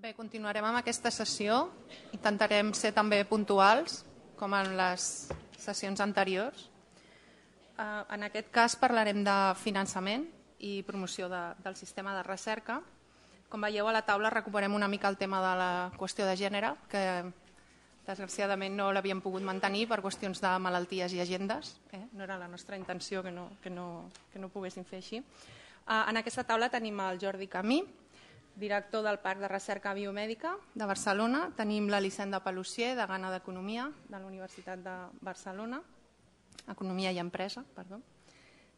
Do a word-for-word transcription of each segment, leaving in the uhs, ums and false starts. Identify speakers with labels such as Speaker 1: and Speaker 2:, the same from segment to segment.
Speaker 1: Bé, continuarem amb aquesta sessió. Intentarem ser també puntuals, com en les sessions anteriors. En aquest cas parlarem de finançament i promoció de, del sistema de recerca. Com veieu a la taula recuperem una mica el tema de la qüestió de gènere, que desgraciadament no l'havíem pogut mantenir per qüestions de malalties i agendes. Eh? No era la nostra intenció que no, que no, que no poguéssim fer així. En aquesta taula tenim el Jordi Camí, director del Parc de Recerca Biomèdica de Barcelona. Tenim l'Elisenda Palussier, degana d'Economia de la Universitat de Barcelona, Economia i Empresa, perdó.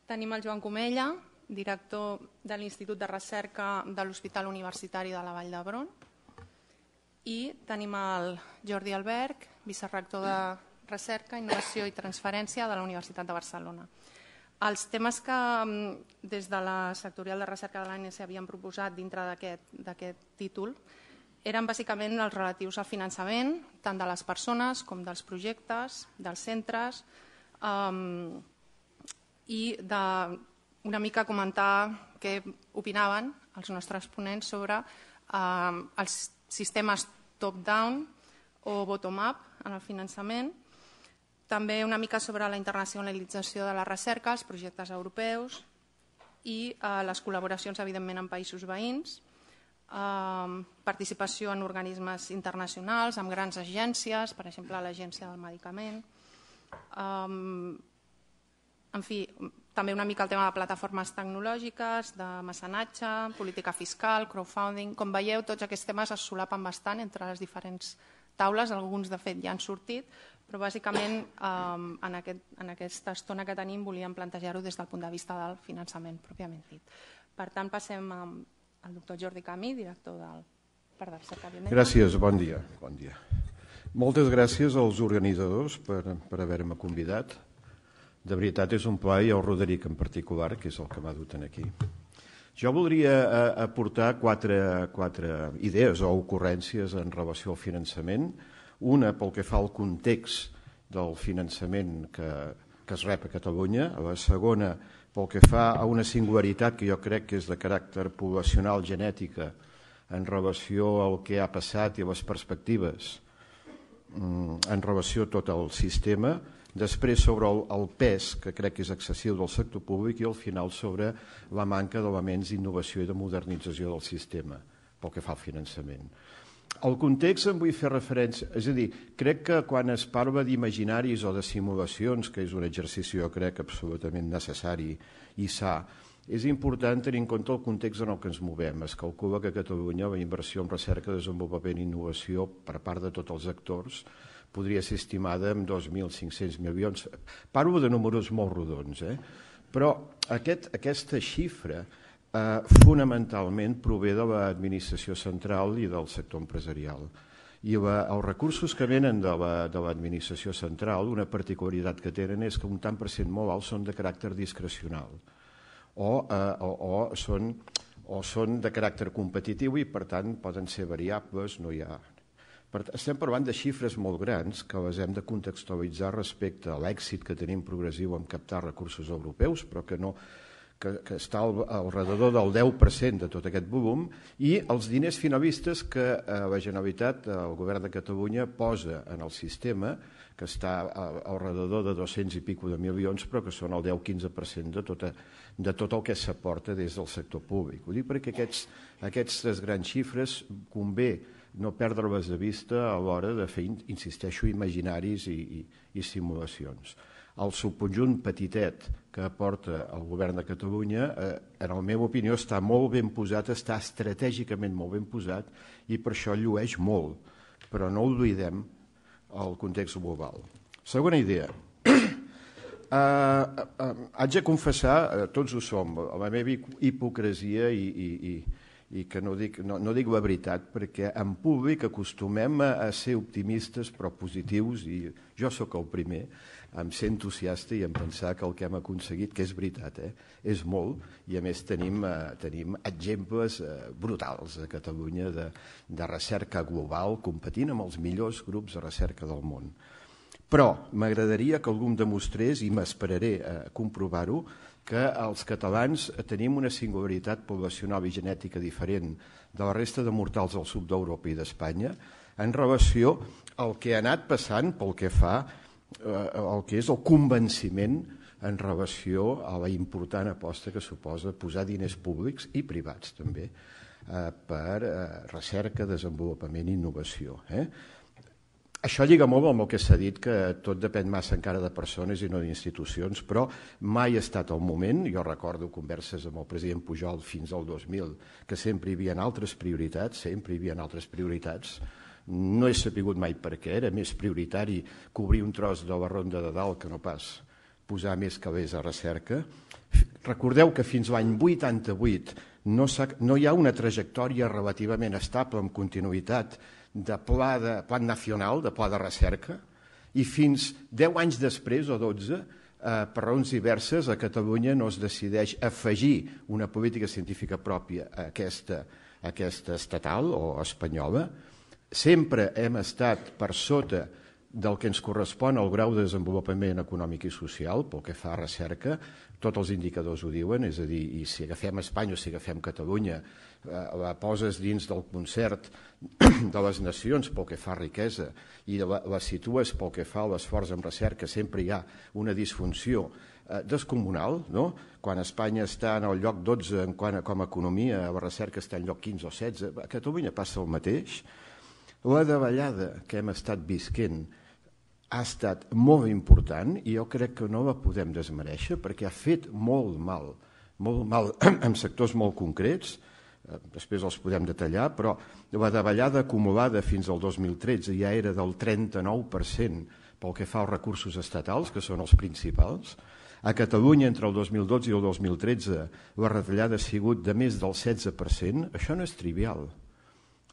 Speaker 1: Tenim el Joan Comella, director de l'Institut de Recerca de l'Hospital Universitari de la Vall d'Hebron. I tenim el Jordi Alberg, vicerector de Recerca, Innovació i Transferència de la Universitat de Barcelona. Els temes que des de la sectorial de recerca de l'A N S havien proposat dintre d'aquest títol eren bàsicament els relatius al finançament, tant de les persones com dels projectes, dels centres, um, i de una mica comentar què opinaven els nostres ponents sobre um, els sistemes top-down o bottom-up en el finançament, també una mica sobre la internacionalització de la recerca, els projectes europeus i eh, les col·laboracions, evidentment, en països veïns, eh, participació en organismes internacionals, amb grans agències, per exemple, l'Agència del Medicament. Eh, en fi, també una mica el tema de plataformes tecnològiques, de mecenatge, política fiscal, crowdfunding. Com veieu, tots aquests temes es solapen bastant entre les diferents taules, alguns de fet ja han sortit, però bàsicament en aquesta estona que tenim volíem plantejar-ho des del punt de vista del finançament pròpiament dit. Per tant, passem al doctor Jordi Camí, director del Parc de Recerca Biomèdica.
Speaker 2: Gràcies, bon dia. Bon dia. Moltes gràcies als organitzadors per, per haver-me convidat. De veritat és un plaer, i el Roderic en particular, que és el que m'ha dut aquí. Jo voldria aportar quatre, quatre idees o ocurrències en relació al finançament. Una pel que fa al context del finançament que, que es rep a Catalunya, la segona pel que fa a una singularitat que jo crec que és de caràcter poblacional genètica en relació al que ha passat i les perspectives en relació a tot el sistema, després sobre el, el pes, que crec que és excessiu del sector públic, i al final sobre la manca d'elements d'innovació i de modernització del sistema pel que fa al finançament. El context en vull fer referència, és a dir, crec que quan es parla d'imaginaris o de simulacions, que és un exercici jo crec absolutament necessari i sa, és important tenir en compte el context en el que ens movem. Es calcula que a Catalunya la inversió en recerca, desenvolupament i innovació per part de tots els actors podria ser estimada en dos mil cinc-cents milions. Parlo de números molt rodons, eh? Però aquest, aquesta xifra Uh, fonamentalment prové de l'administració central i del sector empresarial. I la, els recursos que venen de l'administració central, una particularitat que tenen és que un tant per cent molt alt són de caràcter discrecional o, uh, o, o, són, o són de caràcter competitiu i per tant poden ser variables, no hi ha... Per, estem parlant de xifres molt grans que les hem de contextualitzar respecte a l'èxit que tenim progressiu en captar recursos europeus, però que no... que, que està al, al redador del deu per cent de tot aquest volum, i els diners finalistes que eh, la Generalitat, el Govern de Catalunya, posa en el sistema, que està al, al redador de dos-cents i pico de milions, però que són el deu a quinze per cent de, tota, de tot el que s'aporta des del sector públic. Ho dic perquè aquests, aquestes grans xifres convé no perdre-les de vista a l'hora de fer, insisteixo, imaginaris i, i, i simulacions. El subconjunt petitet que aporta el Govern de Catalunya, eh, en la meva opinió, està molt ben posat, està estratègicament molt ben posat i per això llueix molt, però no oblidem el context global. Segona idea. Eh, eh, haig de confessar, eh, tots ho som, la meva hipocresia i, i, i, i que no dic, no, no dic la veritat, perquè en públic acostumem a, a ser optimistes però positius, i jo sóc el primer, em ser entusiasta i em pensar que el que hem aconseguit, que és veritat, eh, és molt, i a més tenim, eh, tenim exemples eh, brutals a Catalunya de, de recerca global, competint amb els millors grups de recerca del món. Però m'agradaria que algú em demostrés, i m'esperaré a comprovar-ho, que els catalans tenim una singularitat poblacional i genètica diferent de la resta de mortals del sud d'Europa i d'Espanya en relació al que ha anat passant pel que fa el que és el convenciment en relació a la important aposta que suposa posar diners públics i privats també per recerca, desenvolupament i innovació. Això lliga molt amb el que s'ha dit, que tot depèn massa encara de persones i no d'institucions, però mai ha estat el moment. Jo recordo converses amb el president Pujol fins al dos mil, que sempre hi havia altres prioritats, sempre hi havia altres prioritats. No he sabut mai per què, era més prioritari cobrir un tros de la Ronda de Dalt que no pas posar més calés a recerca. Recordeu que fins l'any vuitanta-vuit no, no hi ha una trajectòria relativament estable amb continuïtat de pla, de plan nacional, de pla de recerca, i fins deu anys després, o dotze, eh, per raons diverses, a Catalunya no es decideix afegir una política científica pròpia a aquesta, a aquesta estatal o espanyola. Sempre hem estat per sota del que ens correspon al grau de desenvolupament econòmic i social, pel que fa a recerca. Tots els indicadors ho diuen, és a dir, i si agafem Espanya o si agafem Catalunya, eh, la poses dins del concert de les nacions pel que fa a riquesa i la, la situes pel que fa a l'esforç en recerca, sempre hi ha una disfunció eh, descomunal, no? Quan Espanya està en el lloc dotze en quant a, com a economia, la recerca està en lloc quinze o setze, a Catalunya passa el mateix. La davallada que hem estat visquent ha estat molt important i jo crec que no la podem desmereixer perquè ha fet molt mal, molt mal en sectors molt concrets, després els podem detallar, però la davallada acumulada fins al dos mil tretze ja era del trenta-nou per cent pel que fa als recursos estatals, que són els principals. A Catalunya, entre el dos mil dotze i el dos mil tretze, la retallada ha sigut de més del setze per cent. Això no és trivial.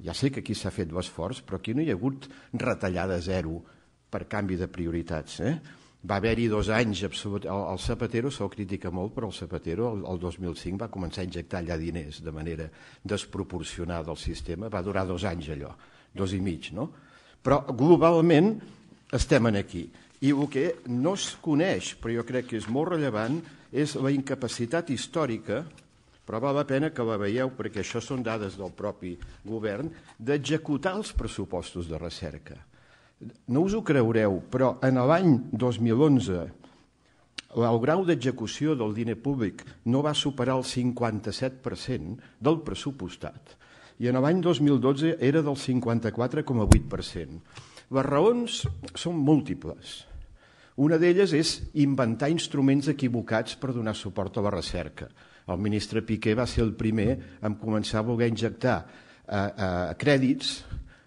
Speaker 2: Ja sé que aquí s'ha fet l'esforç, però aquí no hi ha hagut retallada zero per canvi de prioritats. Eh? Va haver-hi dos anys, absolut... el, el Zapatero se'l critica molt, però el Zapatero el, el dos mil cinc va començar a injectar allà diners de manera desproporcionada al sistema, va durar dos anys allò, dos i mig, no? Però globalment estem aquí. I el que no es coneix, però jo crec que és molt rellevant, és la incapacitat històrica, però val la pena que la veieu perquè això són dades del propi govern, d'executar els pressupostos de recerca. No us ho creureu, però en l'any dos mil onze el grau d'execució del diner públic no va superar el cinquanta-set per cent del pressupostat i en l'any dos mil dotze era del cinquanta-quatre coma vuit per cent. Les raons són múltiples. Una d'elles és inventar instruments equivocats per donar suport a la recerca. El ministre Piqué va ser el primer a començar a voler injectar eh, eh, crèdits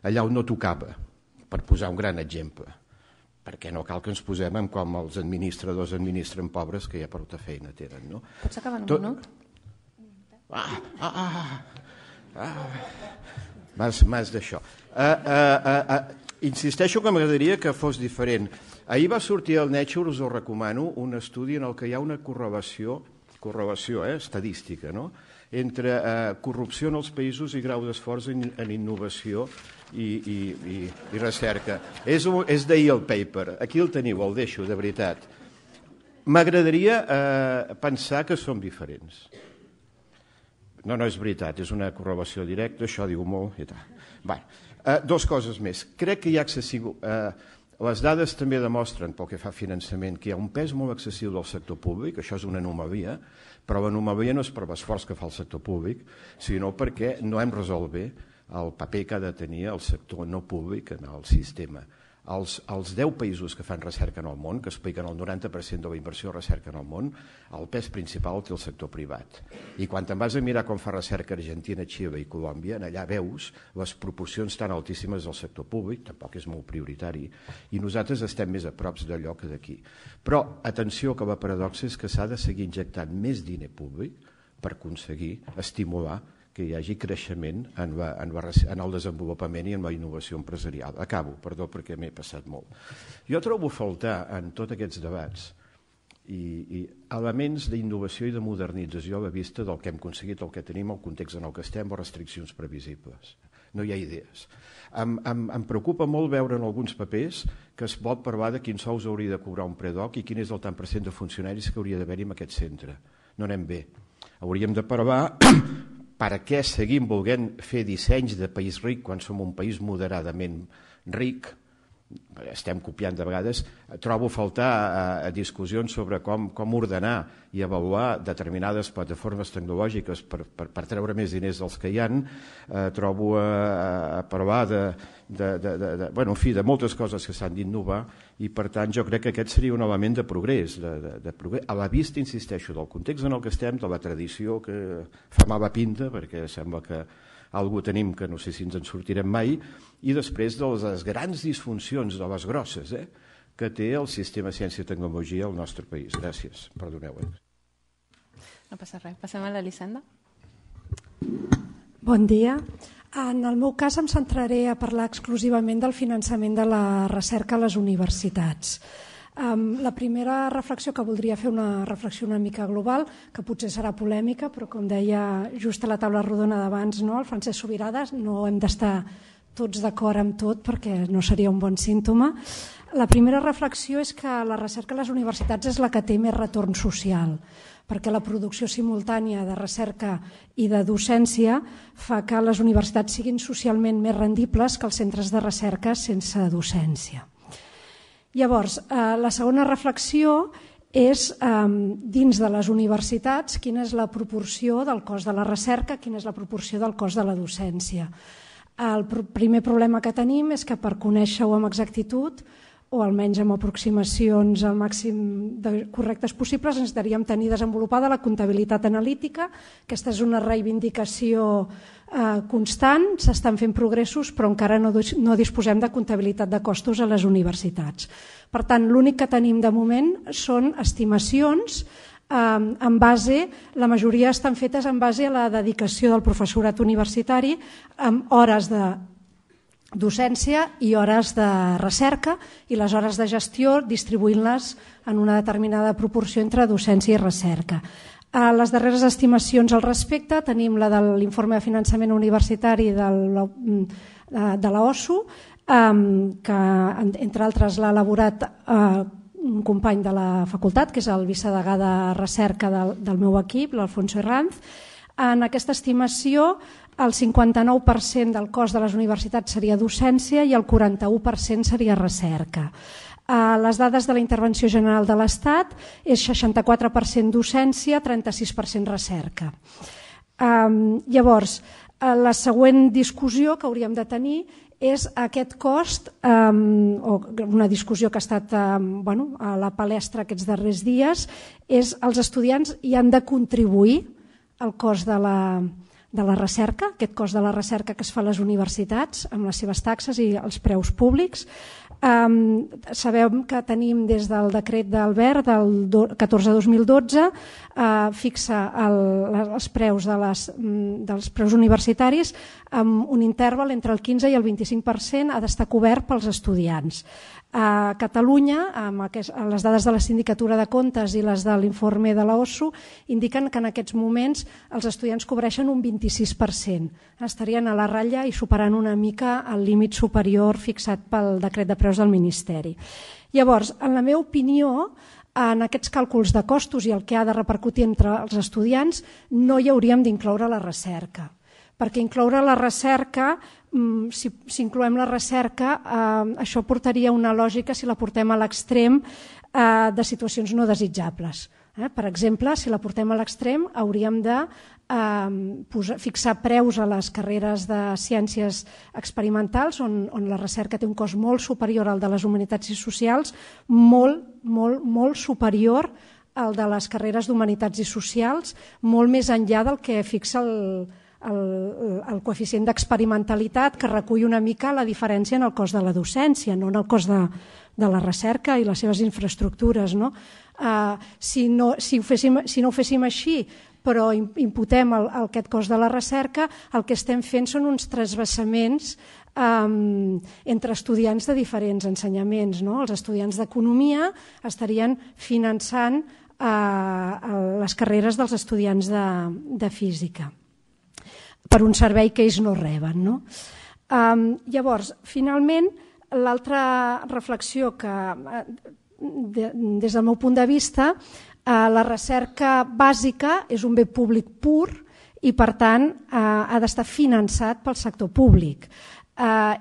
Speaker 2: allà on no tocava, per posar un gran exemple, perquè no cal que ens posem en com els administradors administren pobres que ja prou feina tenen. No?
Speaker 1: Pots acabar en un
Speaker 2: Tot...
Speaker 1: minut?
Speaker 2: Ah, ah, ah, ah. Mas, mas d'això. Uh, uh, uh, uh. Insisteixo que m'agradaria que fos diferent. Ahir va sortir al Nature, us ho recomano, un estudi en el que hi ha una correlació, correlació eh, estadística, no? entre uh, corrupció en els països i grau d'esforç en, en innovació i, i, i, i recerca. És, és d'ahir el paper, aquí el teniu, el deixo, de veritat. M'agradaria eh, pensar que som diferents. No, no és veritat, és una correlació directa, això diu molt i tal. Bé, eh, dos coses més. Crec que hi ha excessiu... Eh, les dades també demostren, pel que fa a finançament, que hi ha un pes molt excessiu del sector públic, això és una anomalia, però l'anomalia no és per l'esforç que fa el sector públic, sinó perquè no hem resolt bé el paper que ha de tenir el sector no públic en el sistema. Els, els deu països que fan recerca en el món, que expliquen el noranta per cent de la inversió de recerca en el món, el pes principal té el sector privat. I quan te'n vas a mirar com fa recerca Argentina, Xile i Colòmbia, allà veus les proporcions tan altíssimes del sector públic, tampoc és molt prioritari, i nosaltres estem més a prop d'allò que d'aquí. Però, atenció, que la paradoxa és que s'ha de seguir injectant més diner públic per aconseguir estimular que hi hagi creixement en, la, en, la, en el desenvolupament i en la innovació empresarial. Acabo, perdó, perquè m'he passat molt. Jo trobo a faltar en tots aquests debats i, i elements d'innovació i de modernització a la vista del que hem aconseguit, el que tenim, el context en el que estem, o restriccions previsibles. No hi ha idees. Em, em, em preocupa molt veure en alguns papers que es pot parlar de quins sous hauria de cobrar un predoc i quin és el tant per cent de funcionaris que hauria d'haver-hi en aquest centre. no anem bé. Hauríem de provar per què seguim volent fer dissenys de país ric quan som un país moderadament ric. Estem copiant de vegades. Trobo faltar a, a discussions sobre com, com ordenar i avaluar determinades plataformes tecnològiques per, per, per treure més diners dels que hi ha. Eh, trobo a, a parlar de, de, de, de, de, bueno, en fi, de moltes coses que s'han d'innovar i, per tant, jo crec que aquest seria un element de progrés, de, de, de progrés, a la vista, insisteixo, del context en el que estem, de la tradició que fa mala pinta, perquè sembla que algú tenim que no sé si ens en sortirem mai, i després de les grans disfuncions, de les grosses, eh, que té el sistema ciència i tecnologia al nostre país. Gràcies, perdoneu. Eh?
Speaker 1: No passa res. Passem a l'Elisenda.
Speaker 3: Bon dia. En el meu cas em centraré a parlar exclusivament del finançament de la recerca a les universitats. Um, la primera reflexió que voldria fer, una reflexió una mica global, que potser serà polèmica, però com deia just a la taula rodona d'abans, no, el Francesc Subirades, no hem d'estar tots d'acord amb tot perquè no seria un bon símptoma. La primera reflexió és que la recerca a les universitats és la que té més retorn social, perquè la producció simultània de recerca i de docència fa que les universitats siguin socialment més rendibles que els centres de recerca sense docència. Llavors, eh, la segona reflexió és, eh, dins de les universitats, quina és la proporció del cost de la recerca, quina és la proporció del cost de la docència. El pr- primer problema que tenim és que per conèixer-ho amb exactitud, o almenys amb aproximacions al màxim de correctes possibles, necessitaríem tenir desenvolupada la comptabilitat analítica. Aquesta és una reivindicació eh, constant, s'estan fent progressos, però encara no, no disposem de comptabilitat de costos a les universitats. Per tant, l'únic que tenim de moment són estimacions eh, en base, la majoria estan fetes en base a la dedicació del professorat universitari amb hores de docència i hores de recerca, i les hores de gestió distribuint-les en una determinada proporció entre docència i recerca. A les darreres estimacions al respecte tenim la de l'informe de finançament universitari de l'O S U, que entre altres l'ha elaborat un company de la facultat, que és el vicedegà de recerca del, del meu equip, l'Alfonso Herranz. En aquesta estimació, el cinquanta-nou per cent del cost de les universitats seria docència i el quaranta-u per cent seria recerca. Les dades de la Intervenció General de l'Estat és seixanta-quatre per cent docència, trenta-sis per cent recerca. Llavors, la següent discussió que hauríem de tenir és aquest cost, o una discussió que ha estat bueno, a la palestra aquests darrers dies, és els estudiants hi han de contribuir al cost de la de la recerca, aquest cost de la recerca que es fa a les universitats amb les seves taxes i els preus públics. Um, sabem que tenim des del decret d'Albert del catorze dos mil dotze uh, fixa el, els preus de les, dels preus universitaris amb un interval entre el quinze i el vint-i-cinc per cent ha d'estar cobert pels estudiants. A Catalunya, amb aquest, les dades de la Sindicatura de Comptes i les de l'informe de l'O S U indiquen que en aquests moments els estudiants cobreixen un vint-i-sis per cent. Estarien a la ratlla i superant una mica el límit superior fixat pel decret de preus del Ministeri. Llavors, en la meva opinió, en aquests càlculs de costos i el que ha de repercutir entre els estudiants, no hi hauríem d'incloure la recerca. Perquè incloure la recerca, si, si incloem la recerca, eh, això portaria una lògica, si la portem a l'extrem, eh, de situacions no desitjables. Eh? Per exemple, si la portem a l'extrem, hauríem de eh, posar, fixar preus a les carreres de ciències experimentals, on, on la recerca té un cost molt superior al de les humanitats i socials, molt, molt, molt superior al de les carreres d'humanitats i socials, molt més enllà del que fixa el El, el coeficient d'experimentalitat, que recull una mica la diferència en el cost de la docència, no en el cost de, de la recerca i les seves infraestructures. No? Uh, si, no, si, ho féssim, si no ho féssim així, però imputem el, el, aquest cost de la recerca, el que estem fent són uns transvasaments um, entre estudiants de diferents ensenyaments. No? Els estudiants d'economia estarien finançant uh, les carreres dels estudiants de, de física, per un servei que ells no reben. No? Um, llavors, finalment, l'altra reflexió que, de, des del meu punt de vista, La recerca bàsica és un bé públic pur i, per tant, ha d'estar finançat pel sector públic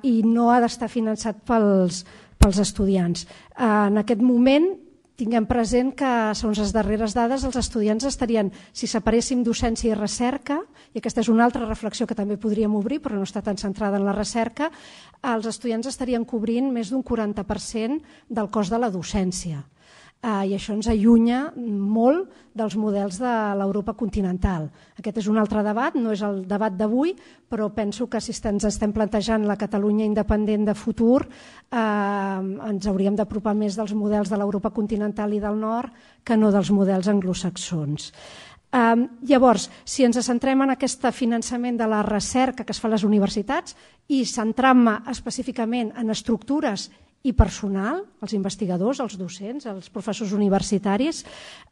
Speaker 3: i no ha d'estar finançat pels estudiants. En aquest moment, tinguem present que, segons les darreres dades, els estudiants estarien, si separéssim docència i recerca, i aquesta és una altra reflexió que també podríem obrir, però no està tan centrada en la recerca, els estudiants estarien cobrint més d'un quaranta per cent del cost de la docència. I això ens allunya molt dels models de l'Europa continental. Aquest és un altre debat, no és el debat d'avui, però penso que si ens estem plantejant la Catalunya independent de futur, ens hauríem d'apropar més dels models de l'Europa continental i del nord que no dels models anglosaxons. Llavors, si ens centrem en aquest finançament de la recerca que es fa a les universitats i centrant-me específicament en estructures i personal, els investigadors, els docents, els professors universitaris,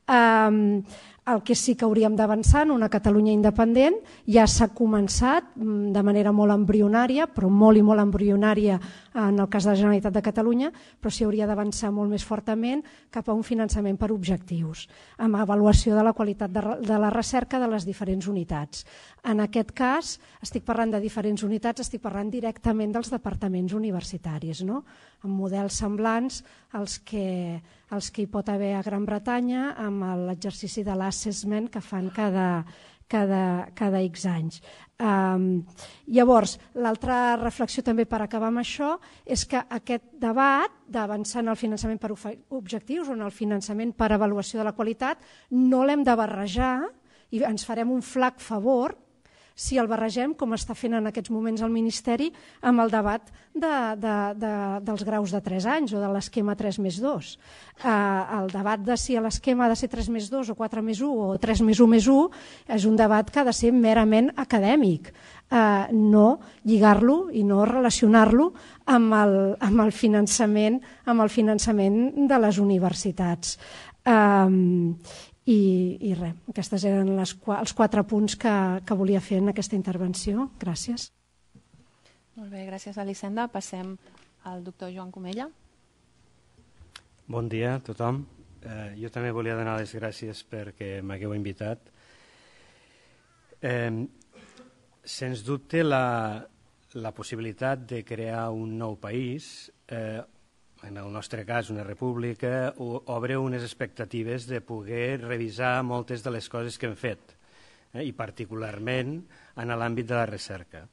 Speaker 3: el que sí que hauríem d'avançar en una Catalunya independent ja s'ha començat de manera molt embrionària, però molt i molt embrionària en el cas de la Generalitat de Catalunya, però s'hi hauria d'avançar molt més fortament cap a un finançament per objectius, amb avaluació de la qualitat de la recerca de les diferents unitats. En aquest cas, estic parlant de diferents unitats, estic parlant directament dels departaments universitaris, no? Amb models semblants als que, als que hi pot haver a Gran Bretanya amb l'exercici de l'assessment que fan cada, cada, cada X anys. Um, llavors, l'altra reflexió també per acabar amb això és que aquest debat d'avançar en el finançament per objectius o en el finançament per avaluació de la qualitat no l'hem de barrejar i ens farem un flac favor si el barregem, com està fent en aquests moments el Ministeri, amb el debat de, de, de, dels graus de tres anys o de l'esquema tres més dos. Eh, el debat de si l'esquema ha de ser tres més dos o quatre més u o tres més u més u és un debat que ha de ser merament acadèmic, eh, no lligar-lo i no relacionar-lo amb, el, amb, el finançament, amb el finançament de les universitats. Eh, I, i res, aquests eren les, els quatre punts que, que volia fer en aquesta intervenció. Gràcies.
Speaker 1: Molt bé, gràcies, Elisenda. Passem al doctor Joan Comella.
Speaker 4: Bon dia a tothom. Eh, jo també volia donar les gràcies perquè m'hagueu invitat. Eh, sens dubte, la, la possibilitat de crear un nou país, eh, en el nostre cas una república, obre unes expectatives de poder revisar moltes de les coses que hem fet, eh, i particularment en l'àmbit de la recerca.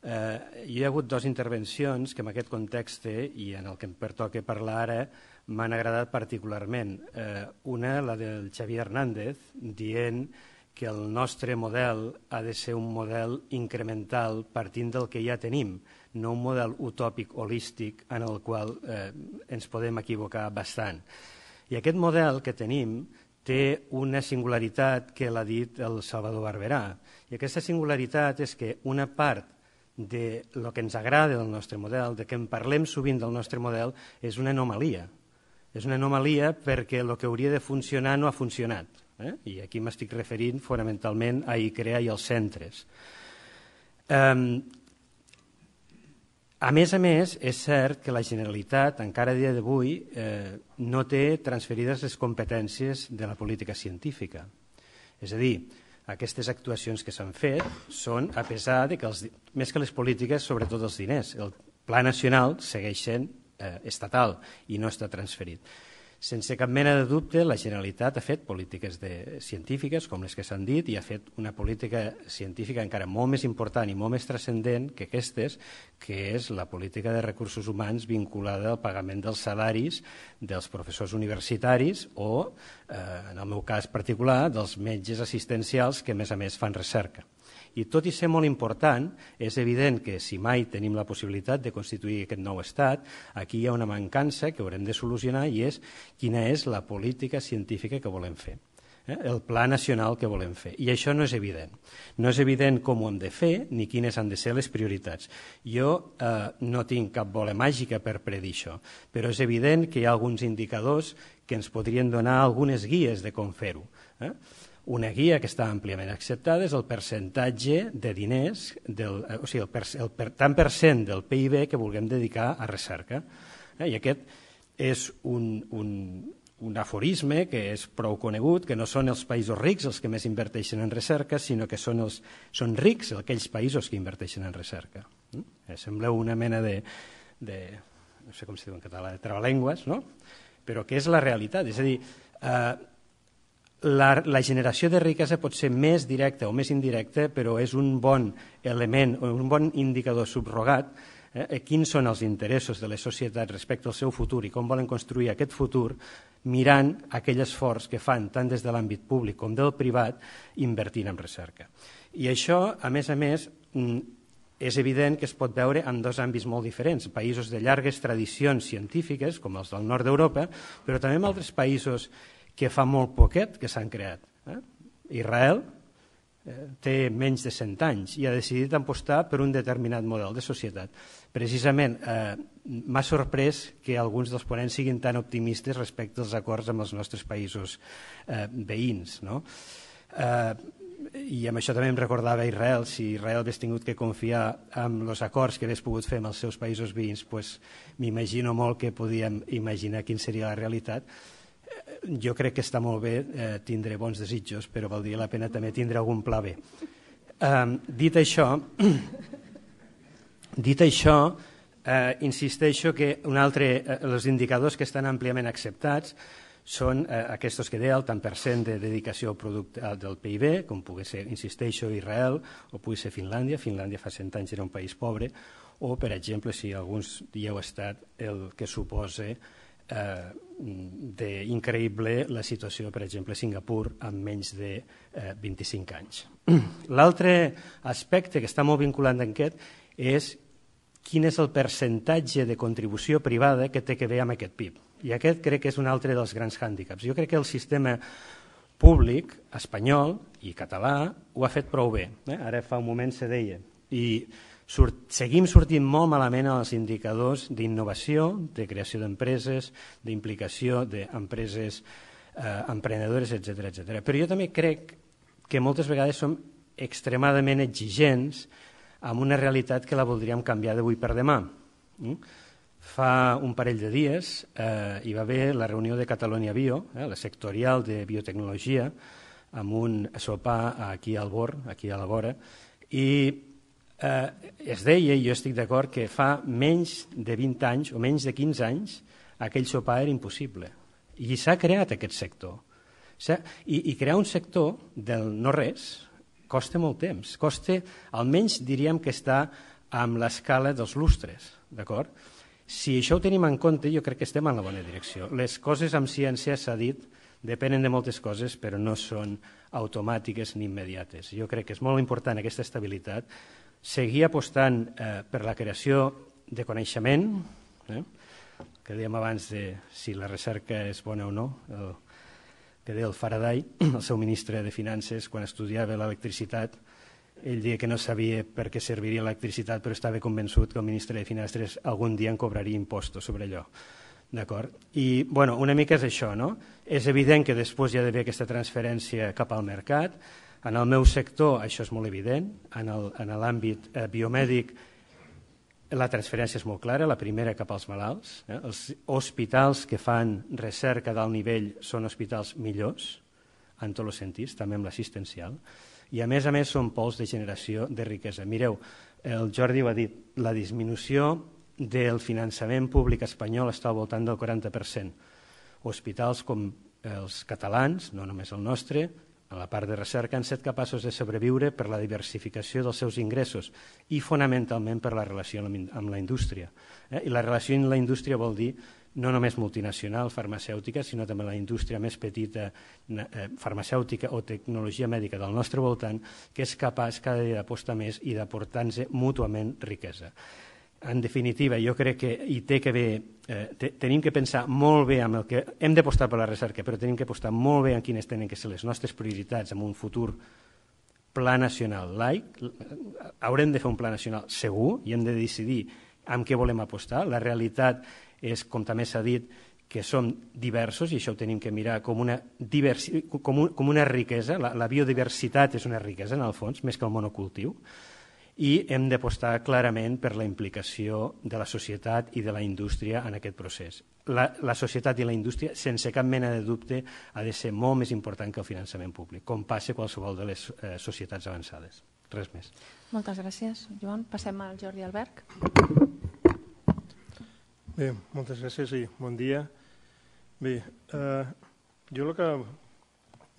Speaker 4: Eh, hi ha hagut dues intervencions que en aquest context i en el que em pertoca parlar ara m'han agradat particularment. Eh, una, la del Xavier Hernández, dient que el nostre model ha de ser un model incremental partint del que ja tenim, no un model utòpic holístic en el qual eh, ens podem equivocar bastant. I aquest model que tenim té una singularitat que l'ha dit el Salvador Barberà. I aquesta singularitat és que una part de lo que ens agrada del nostre model, de que en parlem sovint del nostre model, és una anomalia. És una anomalia perquè el que hauria de funcionar no ha funcionat. Eh? I aquí m'estic referint fonamentalment a I C R E A i als centres. Um, A més a més, és cert que la Generalitat, encara a dia d'avui, eh, no té transferides les competències de la política científica. És a dir, aquestes actuacions que s'han fet són a pesar de que, els, més que les polítiques, sobretot els diners. El Pla Nacional segueix sent eh, estatal i no està transferit. Sense cap mena de dubte, la Generalitat ha fet polítiques de, científiques, com les que s'han dit, i ha fet una política científica encara molt més important i molt més transcendent que aquestes, que és la política de recursos humans vinculada al pagament dels salaris dels professors universitaris o, eh, en el meu cas particular, dels metges assistencials que, a més a més, fan recerca. I tot i ser molt important, és evident que si mai tenim la possibilitat de constituir aquest nou estat, aquí hi ha una mancança que haurem de solucionar i és quina és la política científica que volem fer, eh? El pla nacional que volem fer. I això no és evident. No és evident com ho hem de fer ni quines han de ser les prioritats. Jo eh, no tinc cap bola màgica per predir això, però és evident que hi ha alguns indicadors que ens podrien donar algunes guies de com fer-ho. Eh? Una guia que està àmpliament acceptada és el percentatge de diners, del, o sigui, el, per, el per, tant per cent del P I B que vulguem dedicar a recerca. Eh? I aquest és un, un, un aforisme que és prou conegut, que no són els països rics els que més inverteixen en recerca, sinó que són, els, són rics aquells països que inverteixen en recerca. Eh, sembla una mena de, de, no sé com es diu en català, de trabalengües, no? Però que és la realitat. És a dir, eh, la, la generació de riquesa pot ser més directa o més indirecta, però és un bon element, un bon indicador subrogat. Eh, quins són els interessos de les societats respecte al seu futur i com volen construir aquest futur mirant aquell esforç que fan tant des de l'àmbit públic com del privat invertint en recerca. I això, a més a més, és evident que es pot veure en dos àmbits molt diferents, països de llargues tradicions científiques, com els del nord d'Europa, però també en altres països que fa molt poquet que s'han creat. Eh? Israel té menys de cent anys i ha decidit apostar per un determinat model de societat. Precisament eh, m'ha sorprès que alguns dels ponents siguin tan optimistes respecte als acords amb els nostres països eh, veïns. No? Eh, I amb això també em recordava Israel. Si Israel hagués tingut que confiar en els acords que hagués pogut fer amb els seus països veïns, pues, m'imagino molt que podíem imaginar quina seria la realitat. Jo crec que està molt bé eh, tindre bons desitjos, però valdria la pena també tindre algun pla B. Um, dit això, dit això eh, insisteixo que un altre, eh, els indicadors que estan àmpliament acceptats són eh, aquests que deia, el tant per cent de dedicació al producte del P I B, com pugui ser, insisteixo, Israel, o pugui ser Finlàndia. Finlàndia fa cent anys era un país pobre, o, per exemple, si alguns hi heu estat, el que suposa Eh, d'increïble la situació, per exemple, a Singapur amb menys de eh, vint-i-cinc anys. L'altre aspecte que està molt vinculat amb aquest és quin és el percentatge de contribució privada que té que veure amb aquest P I B. I aquest crec que és un altre dels grans hàndicaps. Jo crec que el sistema públic espanyol i català ho ha fet prou bé. Eh? Ara fa un moment se deia. I Surt, seguim sortint molt malament als indicadors d'innovació, de creació d'empreses, d'implicació d'empreses eh, emprenedores, etcètera, etcètera. Però jo també crec que moltes vegades som extremadament exigents amb una realitat que la voldríem canviar d'avui per demà. Fa un parell de dies eh, hi va haver la reunió de Catalunya Bio, eh, la sectorial de biotecnologia, amb un sopar aquí al Born, aquí a la vora, i Eh, es deia, i jo estic d'acord, que fa menys de vint anys o menys de quinze anys aquell sopar era impossible. I s'ha creat aquest sector. I, I crear un sector del no-res costa molt temps. Costa, almenys diríem que està amb l'escala dels lustres. D'acord? Si això ho tenim en compte, jo crec que estem en la bona direcció. Les coses amb ciència, s'ha dit, depenen de moltes coses, però no són automàtiques ni immediates. Jo crec que és molt important aquesta estabilitat, seguir apostant eh, per la creació de coneixement, eh, que dèiem abans de si la recerca és bona o no, el, que deia el Faraday, el seu ministre de Finances, quan estudiava l'electricitat, ell deia que no sabia per què serviria l'electricitat, però estava convençut que el ministre de Finances algun dia en cobraria impostos sobre allò. D'acord? I, bueno, una mica és això, no? És evident que després hi ha d'haver aquesta transferència cap al mercat. En el meu sector això és molt evident, en l'àmbit eh, biomèdic la transferència és molt clara, la primera cap als malalts. Eh? Els hospitals que fan recerca d'alt nivell són hospitals millors, en tots els sentits, també amb l'assistencial, i a més a més són pols de generació de riquesa. Mireu, el Jordi ho ha dit, la disminució del finançament públic espanyol està al voltant del quaranta per cent. Hospitals com els catalans, no només el nostre, a la part de recerca, han estat capaços de sobreviure per la diversificació dels seus ingressos i fonamentalment per la relació amb la indústria. Eh? I la relació amb la indústria vol dir no només multinacional, farmacèutica, sinó també la indústria més petita, eh, farmacèutica o tecnologia mèdica del nostre voltant, que és capaç cada dia d'apostar més i d'aportar-nos mútuament riquesa. En definitiva, jo crec que hi té que haver, eh, te, tenim que pensar molt bé amb el que hem d'apostar per la recerca, però tenim que apostar molt bé en quines tenen que ser les nostres prioritats en un futur pla nacional laic. Haurem de fer un pla nacional segur i hem de decidir amb què volem apostar. La realitat és, com també s'ha dit, que som diversos i això ho tenim que mirar com una, diversi, com un, com una riquesa. La, la biodiversitat és una riquesa, en el fons, més que el monocultiu. i hem d'apostar clarament per la implicació de la societat i de la indústria en aquest procés. La, la societat i la indústria, sense cap mena de dubte, ha de ser molt més important que el finançament públic, com passa qualsevol de les eh, societats avançades. Res més.
Speaker 1: Moltes gràcies, Joan. Passem al Jordi Alberg.
Speaker 5: Bé, moltes gràcies i bon dia. Bé, eh, jo el que...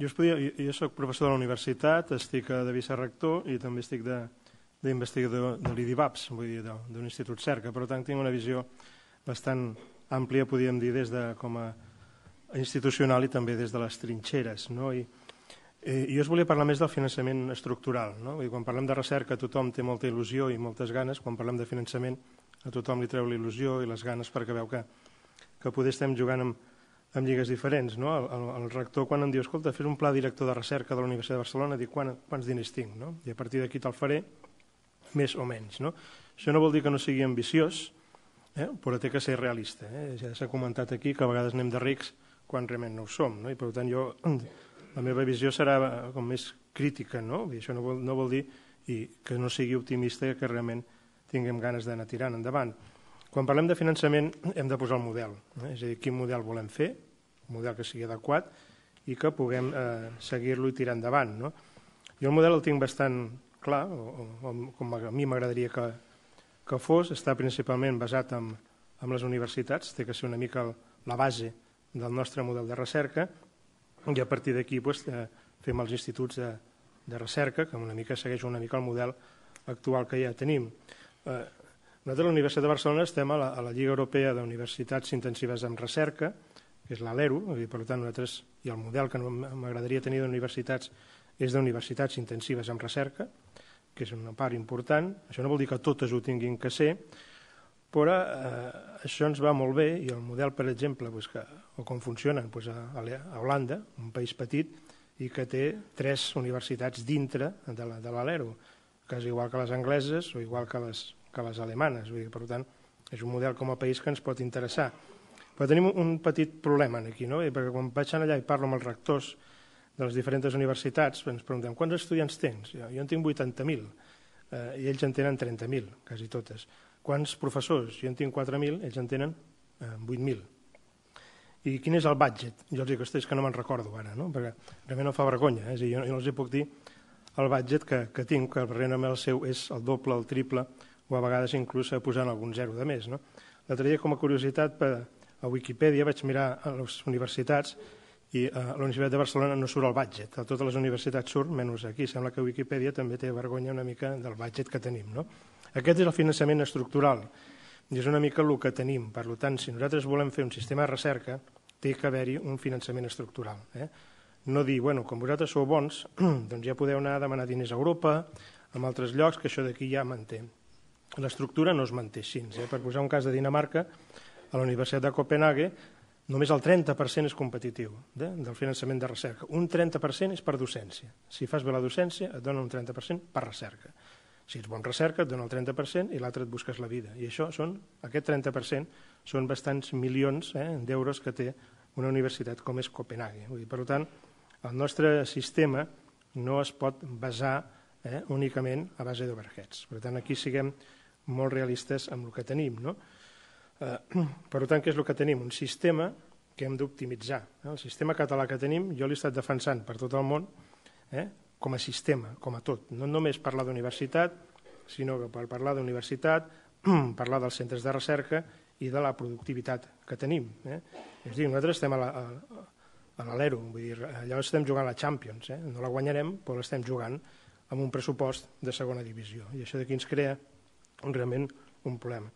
Speaker 5: Jo, podia, jo soc professor de la universitat, estic de vicerector i també estic d'investigador de, de l'I D I V A P S, vull dir, d'un institut Cerca. Per tant, tinc una visió bastant àmplia, podríem dir, des de com a institucional i també des de les trinxeres. No? I, eh, jo us volia parlar més del finançament estructural. No? Vull dir, quan parlem de recerca tothom té molta il·lusió i moltes ganes, quan parlem de finançament a tothom li treu la il·lusió i les ganes perquè veu que, que poder estem jugant amb amb lligues diferents. No? El, el, el rector, quan em diu, escolta, fes un pla director de recerca de la Universitat de Barcelona, dic, Quan, quants diners tinc? No? I a partir d'aquí te'l faré, més o menys. No? Això no vol dir que no sigui ambiciós, eh? però té que ser realista. Eh? Ja s'ha comentat aquí que a vegades anem de rics quan realment no ho som. No? I per tant, jo, la meva visió serà com més crítica. No? I això no vol, no vol dir i que no sigui optimista i que realment tinguem ganes d'anar tirant endavant. Quan parlem de finançament hem de posar el model, eh? és a dir, quin model volem fer, un model que sigui adequat i que puguem eh, seguir-lo i tirar endavant. No? Jo el model el tinc bastant clar, o, o, com a mi m'agradaria que, que fos, està principalment basat en, en les universitats, té que ser una mica el, la base del nostre model de recerca i a partir d'aquí pues, eh, fem els instituts de, de recerca, que una mica segueix una mica el model actual que ja tenim. Eh, Nosaltres a la Universitat de Barcelona estem a la, a la Lliga Europea d'Universitats Intensives en Recerca, que és l'ALERU, per tant nosaltres, i el model que m'agradaria tenir d'universitats és d'universitats intensives en recerca, que és una part important. Això no vol dir que totes ho tinguin que ser, però eh, això ens va molt bé i el model, per exemple, pues, que, o com funcionen pues, a, a Holanda, un país petit, i que té tres universitats dintre de l'ALERU, que és igual que les angleses o igual que les que les alemanes. Vull dir, per tant, és un model com a país que ens pot interessar. Però tenim un petit problema aquí, no? Perquè quan vaig allà i parlo amb els rectors de les diferents universitats, ens preguntem, quants estudiants tens? Jo, jo en tinc vuitanta mil, eh, i ells en tenen trenta mil, quasi totes. Quants professors? Jo en tinc quatre mil, ells en tenen eh, vuit mil. I quin és el budget? Jo els dic, ostres, és que no me'n recordo ara, no? Perquè realment no fa vergonya. Eh? És a dir, jo, jo els hi puc dir el budget que, que tinc, que realment el seu és el doble, el triple, o a vegades inclús posant algun zero de més. No? L'altre dia, com a curiositat, a Wikipedia vaig mirar a les universitats i a la Universitat de Barcelona no surt el budget. A totes les universitats surt, menys aquí. Sembla que Wikipedia també té vergonya una mica del budget que tenim. No? Aquest és el finançament estructural i és una mica el que tenim. Per tant, si nosaltres volem fer un sistema de recerca, té que haver-hi un finançament estructural. Eh? No dir, bueno, com vosaltres sou bons, doncs ja podeu anar a demanar diners a Europa, a altres llocs, que això d'aquí ja manté. L'estructura no es manté així. Eh? Per posar un cas de Dinamarca, a la Universitat de Copenhague, només el trenta per cent és competitiu eh? del finançament de recerca. Un trenta per cent és per docència. Si fas bé la docència, et dona un trenta per cent per recerca. Si ets bon recerca, et dona el trenta per cent i l'altre et busques la vida. I això són, aquest trenta per cent són bastants milions eh, d'euros que té una universitat com és Copenhague. Vull dir, per tant, el nostre sistema no es pot basar eh, únicament a base d'overheads. Per tant, aquí siguem molt realistes amb el que tenim. No? Eh, per tant, què és el que tenim? Un sistema que hem d'optimitzar. Eh? El sistema català que tenim, jo l'he estat defensant per tot el món eh? com a sistema, com a tot. No només parlar d'universitat, sinó que per parlar d'universitat, parlar dels centres de recerca i de la productivitat que tenim. Eh? És a dir, nosaltres estem a la, a, a l'Alero, vull dir, allò estem jugant a la Champions, eh? no la guanyarem, però l'estem jugant amb un pressupost de segona divisió. I això d'aquí ens crea realment un problema.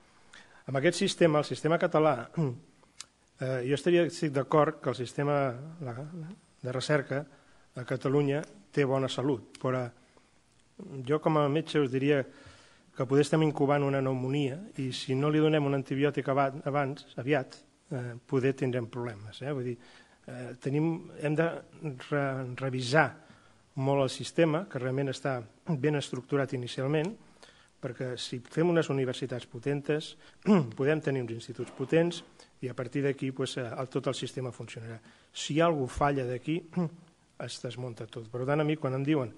Speaker 5: Amb aquest sistema, el sistema català, eh, jo estaria d'acord que el sistema de recerca a Catalunya té bona salut, però jo com a metge us diria que poder estem incubant una pneumonia i si no li donem un antibiòtic abans, aviat, eh, poder tindrem problemes. Eh? Vull dir, eh, tenim, hem de re revisar molt el sistema, que realment està ben estructurat inicialment, perquè si fem unes universitats potentes, podem tenir uns instituts potents i a partir d'aquí pues, tot el sistema funcionarà. Si alguna cosa falla d'aquí, es desmunta tot. Per tant, a mi, quan em diuen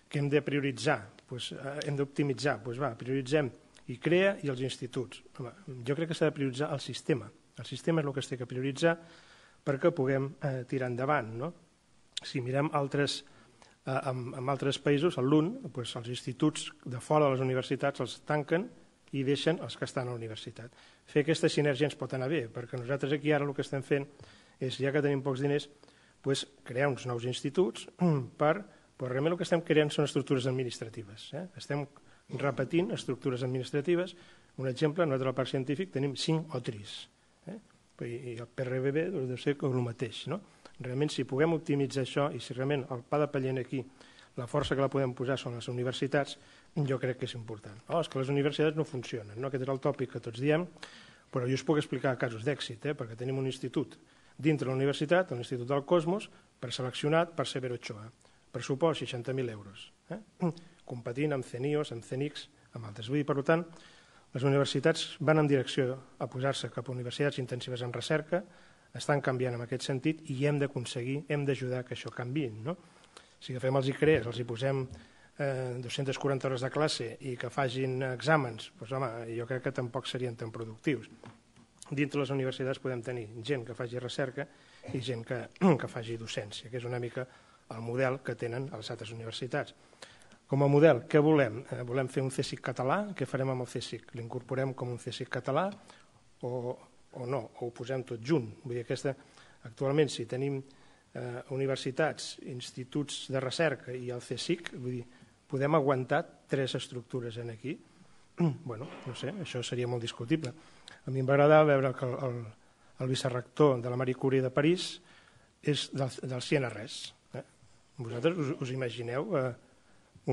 Speaker 5: que hem de prioritzar pues, hem d'optimitzar, pues, va, prioritzem I C R E A i els instituts. Home, jo crec que s'ha de prioritzar el sistema. El sistema és el que es té que prioritzar perquè puguem eh, tirar endavant. No? Si mirem altres, eh, en, en altres països, el L U N, pues, els instituts de fora de les universitats els tanquen i deixen els que estan a la universitat. Fer aquesta sinergia ens pot anar bé, perquè nosaltres aquí ara el que estem fent és, ja que tenim pocs diners, pues, crear uns nous instituts per, però realment el que estem creant són estructures administratives. Eh? Estem repetint estructures administratives. Un exemple, nosaltres al Parc Científic tenim cinc O T R Is, eh? I el P R B B deu ser el mateix. No? Realment, si puguem optimitzar això i si realment el pa de paller aquí, la força que la podem posar són les universitats, jo crec que és important. Oh, és que les universitats no funcionen, no? Aquest és el tòpic que tots diem, però jo us puc explicar casos d'èxit, eh? Perquè tenim un institut dintre de la universitat, l'Institut del Cosmos, preseleccionat per Severo Ochoa. Pressupost seixanta mil euros. Eh? Competint amb CENIOS, amb CENICS, amb altres. Vull dir, per tant, les universitats van en direcció a posar-se cap a universitats intensives en recerca, estan canviant en aquest sentit i hem d'aconseguir, hem d'ajudar que això canviï. No? Si agafem els I C R E A, els hi posem eh, dues-centes quaranta hores de classe i que facin exàmens, doncs, home, jo crec que tampoc serien tan productius. Dintre les universitats podem tenir gent que faci recerca i gent que, que faci docència, que és una mica el model que tenen a les altres universitats. Com a model, què volem? Eh, volem fer un C S I C català? Què farem amb el C S I C? L'incorporem com un C S I C català o, o no? O ho posem tot junt? Vull dir, aquesta, actualment, si tenim eh, universitats, instituts de recerca i el C S I C, vull dir, podem aguantar tres estructures en aquí? Bueno, no sé, això seria molt discutible. A mi m'agrada veure que el, el, el vicerrector de la Marie Curie de París és del, del C N R S. Eh? Vosaltres us, us imagineu eh,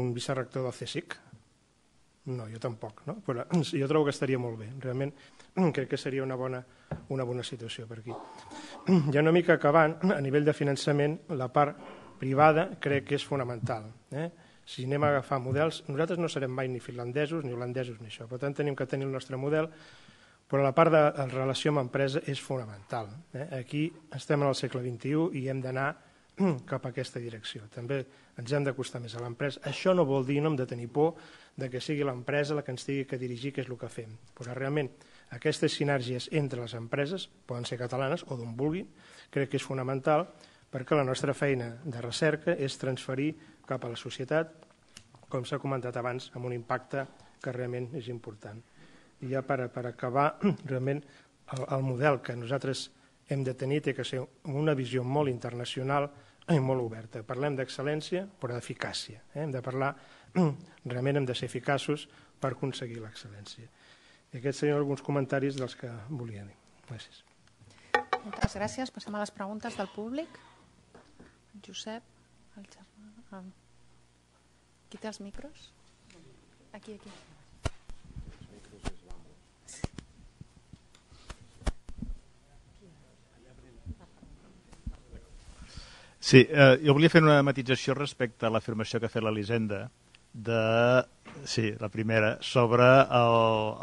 Speaker 5: un vicerrector del C S I C? No, jo tampoc. No? Però jo trobo que estaria molt bé. Realment crec que seria una bona, una bona situació per aquí. Ja una mica acabant, a nivell de finançament, la part privada crec que és fonamental. Eh? Si anem a agafar models, nosaltres no serem mai ni finlandesos, ni holandesos, ni això. Per tant, tenim que tenir el nostre model, però la part de la relació amb empresa és fonamental. Eh? Aquí estem en el segle vint-i-u i hem d'anar cap a aquesta direcció. També ens hem d'acostar més a l'empresa. Això no vol dir, no hem de tenir por, de que sigui l'empresa la que ens tingui que dirigir què és el que fem. Però realment aquestes sinergies entre les empreses, poden ser catalanes o d'on vulguin, crec que és fonamental perquè la nostra feina de recerca és transferir cap a la societat, com s'ha comentat abans, amb un impacte que realment és important. I ja per, per acabar, realment el, el model que nosaltres hem de tenir té que ser una visió molt internacional i molt oberta. Parlem d'excel·lència, però d'eficàcia. Eh? Hem de parlar, realment hem de ser eficaços per aconseguir l'excel·lència. I aquests serien alguns comentaris dels que volia dir. Gràcies.
Speaker 1: Moltes gràcies. Passem a les preguntes del públic. Josep, el germà... Qui té els micros? Aquí, aquí.
Speaker 6: Sí, eh, jo volia fer una matització respecte a l'afirmació que ha fet l'Elisenda de, sí, la primera, sobre el,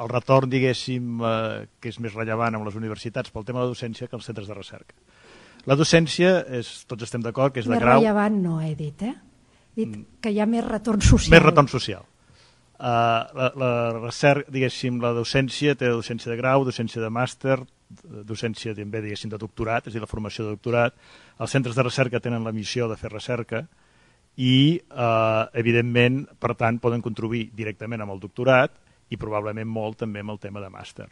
Speaker 6: el retorn, diguéssim, eh, que és més rellevant amb les universitats pel tema de la docència que els centres de recerca. La docència, és, tots estem d'acord, que és de
Speaker 3: més
Speaker 6: grau...
Speaker 3: Més rellevant no he dit, eh? He dit que hi ha més retorn social.
Speaker 6: Més retorn social. Uh, la, la recerca, diguéssim, la docència té docència de grau, docència de màster, docència també, diguéssim, de doctorat, és a dir, la formació de doctorat. Els centres de recerca tenen la missió de fer recerca i, uh, evidentment, per tant, poden contribuir directament amb el doctorat i probablement molt també amb el tema de màster.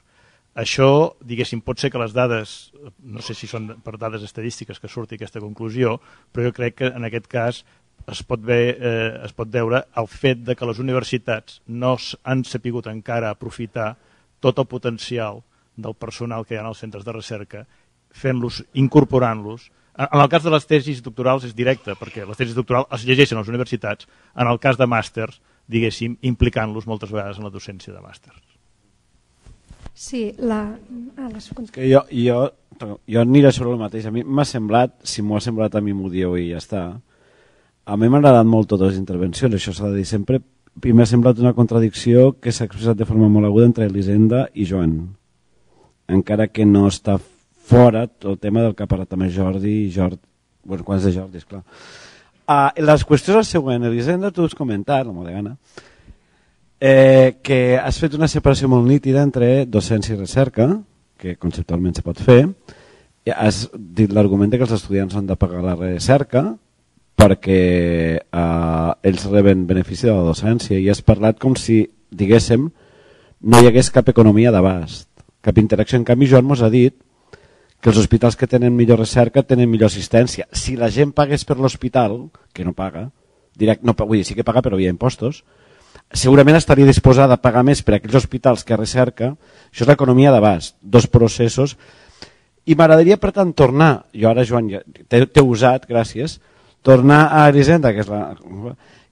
Speaker 6: Això, diguéssim, pot ser que les dades, no sé si són per dades estadístiques que surti aquesta conclusió, però jo crec que en aquest cas es pot, ve, eh, es pot veure el fet de que les universitats no han sapigut encara aprofitar tot el potencial del personal que hi ha als centres de recerca, fent-los, incorporant-los. En el cas de les tesis doctorals és directe, perquè les tesis doctorals es llegeixen a les universitats, en el cas de màsters, diguéssim, implicant-los moltes vegades en la docència de màsters.
Speaker 3: Sí, la... Ah, les...
Speaker 7: Que jo, jo, jo aniré sobre el mateix. A mi m'ha semblat, si m'ho ha semblat a mi m'ho dieu i ja està. A mi m'han agradat molt totes les intervencions, això s'ha de dir sempre. Primer ha semblat una contradicció que s'ha expressat de forma molt aguda entre Elisenda i Joan. Encara que no està fora el tema del que ha parlat també Jordi i Jordi, bueno, quants de Jordi, esclar. Uh, la qüestió és la següent. Elisenda, tu has comentat, la meva gana, eh, que has fet una separació molt nítida entre docència i recerca, que conceptualment se pot fer. Has dit l'argument que els estudiants han de pagar la recerca perquè eh, ells reben benefici de la docència, i has parlat com si, diguéssim, no hi hagués cap economia d'abast, cap interacció. En canvi, Joan mos ha dit que els hospitals que tenen millor recerca tenen millor assistència. Si la gent pagués per l'hospital, que no paga, direct, no, vull dir, sí que paga però via impostos, segurament estaria disposada a pagar més per aquells hospitals que recerca. Això és l'economia d'abast, dos processos. I m'agradaria, per tant, tornar, jo ara, Joan, ja t'he usat, gràcies, tornar a Elisenda, que és la...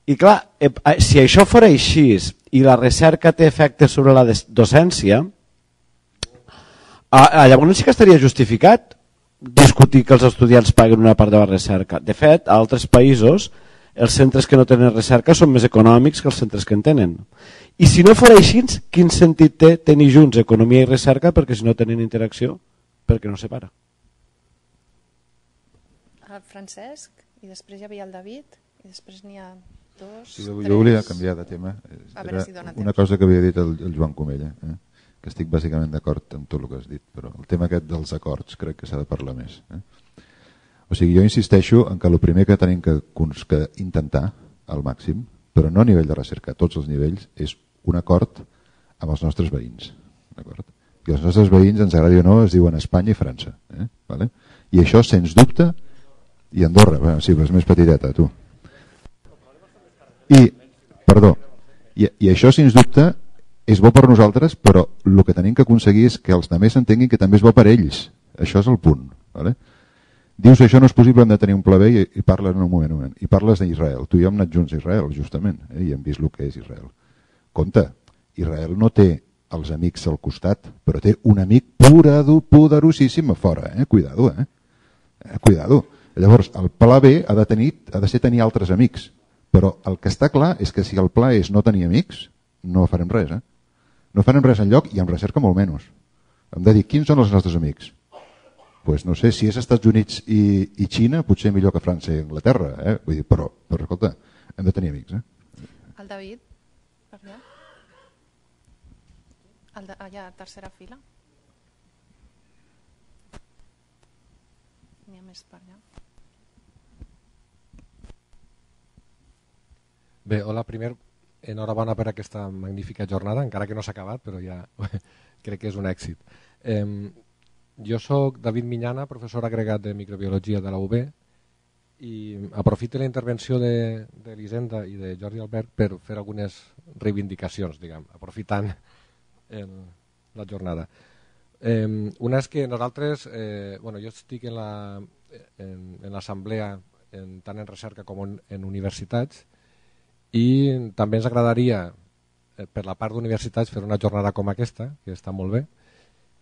Speaker 7: I clar, si això fora així i la recerca té efectes sobre la docència, Ah, llavors sí que estaria justificat discutir que els estudiants paguen una part de la recerca. De fet, a altres països els centres que no tenen recerca són més econòmics que els centres que en tenen. I si no fos així, quin sentit té tenir junts economia i recerca? Perquè si no tenen interacció, perquè no separa.
Speaker 1: El Francesc, i després hi havia el David, i després n'hi ha dos,
Speaker 8: sí,
Speaker 1: tres...
Speaker 8: Jo volia canviar de tema.
Speaker 1: Era si
Speaker 8: una cosa que havia dit el, el Joan Comella, eh? que estic bàsicament d'acord amb tot el que has dit, però el tema aquest dels acords crec que s'ha de parlar més. Eh? O sigui, jo insisteixo en que el primer que tenim que, que intentar al màxim, però no a nivell de recerca, a tots els nivells, és un acord amb els nostres veïns. I els nostres veïns, ens agradi o no, es diuen Espanya i França. Eh? Vale? I això, sens dubte, i Andorra, bueno, sí, però és més petiteta, tu. I, perdó, i, i això, sens dubte, és bo per nosaltres, però el que tenim que aconseguir és que els altres entenguin que també és bo per ells. Això és el punt. Vale? Dius que això no és possible, hem de tenir un pla B, i, i parles en un moment, un moment. I parles d'Israel. Tu i jo hem anat junts a Israel, justament, eh? I hem vist el que és Israel. Compte, Israel no té els amics al costat, però té un amic poderosíssim a fora. Eh? Cuidado, eh? eh? Cuidado. Llavors, el pla B ha de, tenir, ha de ser tenir altres amics. Però el que està clar és que si el pla és no tenir amics, no farem res, eh? No farem res enlloc i en recerca molt menys. Hem de dir, quins són els nostres amics? Pues no sé, si és Estats Units i, i Xina, potser millor que França i Anglaterra, eh? Vull dir, però, però escolta, hem de tenir amics, eh?
Speaker 1: El David, per allà. El de, allà, tercera fila. N'hi ha més per allà.
Speaker 9: Bé, hola, primer, enhorabona per aquesta magnífica jornada, encara que no s'ha acabat, però ja crec que és un èxit. Eh, jo sóc David Miñana, professor agregat de microbiologia de la U B, i aprofito la intervenció d'Elisenda i de Jordi Albert per fer algunes reivindicacions, diguem, aprofitant el, la jornada. Eh, una és que nosaltres, eh, bueno, jo estic en l'assemblea la, tant en recerca com en, en universitats, i també ens agradaria, per la part d'universitats, fer una jornada com aquesta, que està molt bé.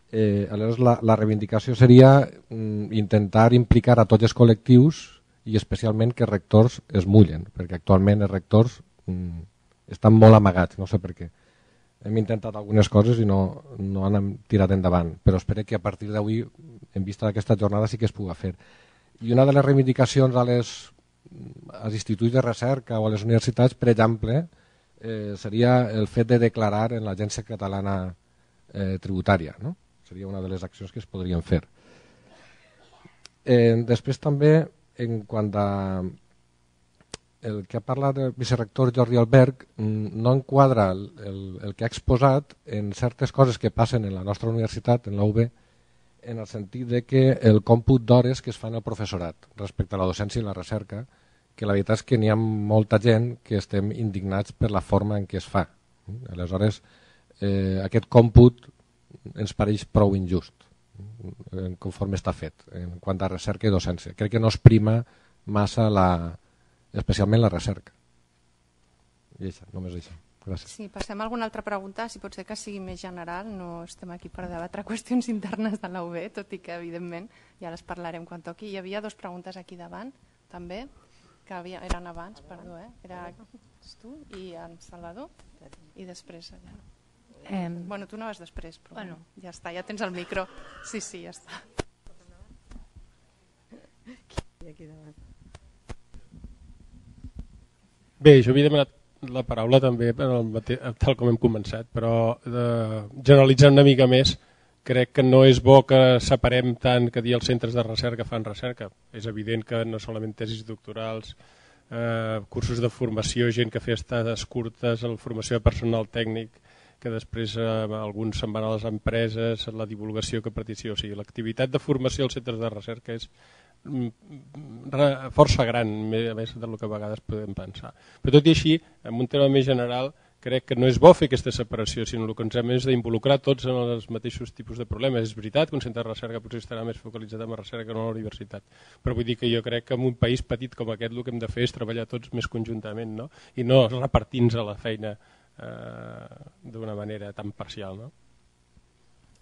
Speaker 9: Eh, aleshores, la, la reivindicació seria mm, intentar implicar a tots els col·lectius i especialment que rectors es mullen, perquè actualment els rectors mm, estan molt amagats, no sé per què. Hem intentat algunes coses i no, no han tirat endavant, però espero que a partir d'avui, en vista d'aquesta jornada, sí que es pugui fer. I una de les reivindicacions a les als instituts de recerca o a les universitats, per exemple, eh, seria el fet de declarar en l'Agència Catalana eh, Tributària. No? Seria una de les accions que es podrien fer. Eh, després també, en quant a el que ha parlat el vicerector Jordi Albert, no enquadra el, el, el que ha exposat en certes coses que passen en la nostra universitat, en la U B, en el sentit de que el còmput d'hores que es fan al professorat respecte a la docència i la recerca, que la veritat és que n'hi ha molta gent que estem indignats per la forma en què es fa. Aleshores, eh, aquest còmput ens pareix prou injust, eh, conforme està fet, en quant a recerca i docència. Crec que no es prima massa, la, especialment la recerca. I això, només això. Gràcies.
Speaker 1: Sí, passem a alguna altra pregunta, si pot ser que sigui més general, no estem aquí per debatre qüestions internes de la U B, tot i que evidentment ja les parlarem quan toqui. Hi havia dues preguntes aquí davant, també, que havia, eren abans, perdó, eh? Era tu i en Salvador, i després allà. Eh, bueno, tu no vas després, però bueno, ja està, ja tens el micro. Sí, sí, ja està.
Speaker 10: Aquí davant. Bé, jo havia demanat la paraula també tal com hem començat, però generalitzant una mica més, crec que no és bo que separem tant que dir els centres de recerca fan recerca. És evident que no solament tesis doctorals, eh, cursos de formació, gent que fa estades curtes, la formació de personal tècnic, que després eh, alguns se'n van a les empreses, la divulgació que participa. O sigui, l'activitat de formació als centres de recerca és força gran, a més del que a vegades podem pensar. Però tot i així, en un tema més general, crec que no és bo fer aquesta separació, sinó el que ens hem és d'involucrar tots en els mateixos tipus de problemes. És veritat que un centre de recerca potser estarà més focalitzat en la recerca que no a la universitat, però vull dir que jo crec que en un país petit com aquest el que hem de fer és treballar tots més conjuntament, no? I no repartir-nos la feina eh, d'una manera tan parcial. No?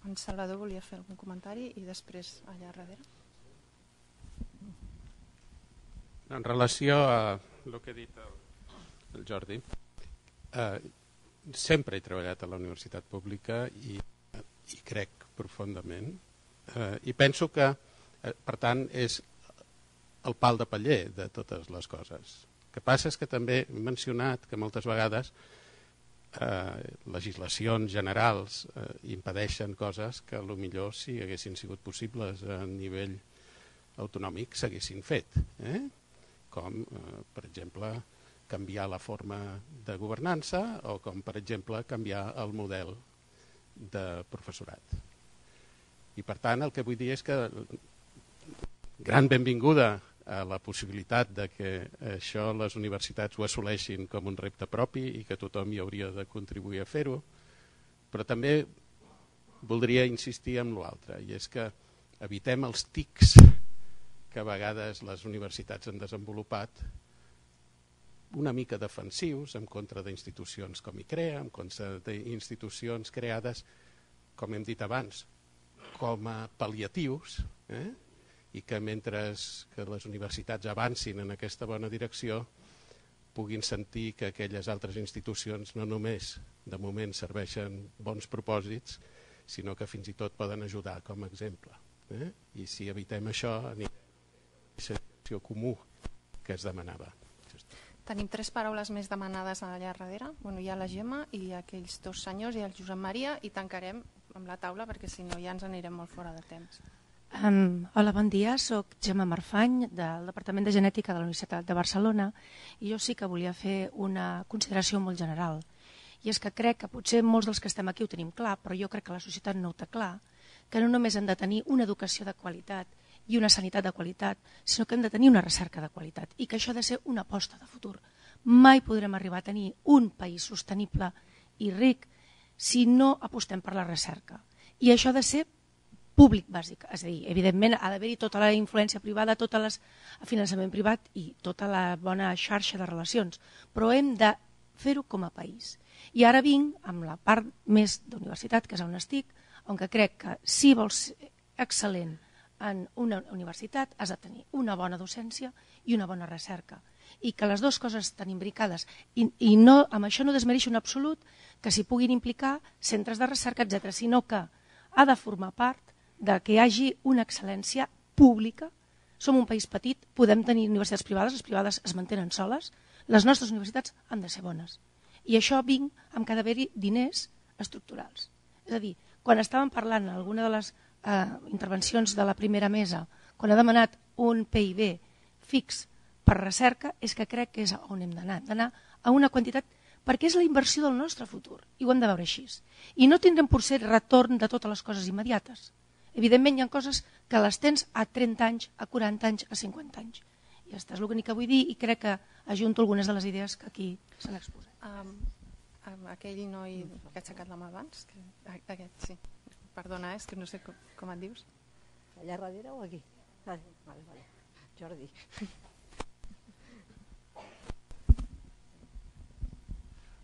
Speaker 1: En Salvador volia fer algun comentari i després allà darrere.
Speaker 11: En relació a el que ha dit el, el Jordi, eh, sempre he treballat a la universitat pública i, i crec profundament eh, i penso que, eh, per tant, és el pal de paller de totes les coses. El que passa és que també he mencionat que moltes vegades eh, legislacions generals eh, impedeixen coses que potser si haguessin sigut possibles a nivell autonòmic s'haguessin fet. Eh? com, eh, per exemple, canviar la forma de governança o com, per exemple, canviar el model de professorat. I, per tant, el que vull dir és que gran benvinguda a la possibilitat de que això les universitats ho assoleixin com un repte propi i que tothom hi hauria de contribuir a fer-ho, però també voldria insistir en l'altre, i és que evitem els tics que a vegades les universitats han desenvolupat una mica defensius en contra d'institucions com ICREA, en contra d'institucions creades, com hem dit abans, com a pal·liatius, eh? I que mentre que les universitats avancin en aquesta bona direcció puguin sentir que aquelles altres institucions no només de moment serveixen bons propòsits, sinó que fins i tot poden ajudar com a exemple. Eh? I si evitem això, anirem situació comú que es demanava.
Speaker 1: Tenim tres paraules més demanades allà darrere. Bueno, hi ha la Gemma i aquells dos senyors i el Josep Maria, i tancarem amb la taula perquè si no ja ens anirem molt fora de temps.
Speaker 12: Um, hola, bon dia. Soc Gemma Marfany del Departament de Genètica de la Universitat de Barcelona i jo sí que volia fer una consideració molt general. I és que crec que potser molts dels que estem aquí ho tenim clar, però jo crec que la societat no ho té clar, que no només hem de tenir una educació de qualitat i una sanitat de qualitat, sinó que hem de tenir una recerca de qualitat i que això ha de ser una aposta de futur. Mai podrem arribar a tenir un país sostenible i ric si no apostem per la recerca. I això ha de ser públic bàsic, és a dir, evidentment ha d'haver-hi tota la influència privada, tot el finançament privat i tota la bona xarxa de relacions, però hem de fer-ho com a país. I ara vinc amb la part més d'universitat, que és on estic, on crec que si vols ser excel·lent en una universitat has de tenir una bona docència i una bona recerca. I que les dues coses estan imbricades. I, i no, amb això no desmereixo en absolut que s'hi puguin implicar centres de recerca, etcètera, sinó que ha de formar part de que hi hagi una excel·lència pública. Som un país petit, podem tenir universitats privades, les privades es mantenen soles, les nostres universitats han de ser bones. I això vinc amb que ha d'haver-hi diners estructurals. És a dir, quan estàvem parlant en alguna de les eh, intervencions de la primera mesa, quan ha demanat un P I B fix per recerca, és que crec que és on hem d'anar, d'anar a una quantitat, perquè és la inversió del nostre futur, i ho hem de veure així. I no tindrem potser retorn de totes les coses immediates. Evidentment hi ha coses que les tens a trenta anys, a quaranta anys, a cinquanta anys. I això és l'únic que vull dir i crec que ajunto algunes de les idees que aquí s'han exposat.
Speaker 1: Um, aquell noi que ha aixecat la mà abans, que, aquest, sí. Perdona, és que no sé com, com et dius.
Speaker 13: Allà darrere o aquí? Ah, vale, vale. Jordi.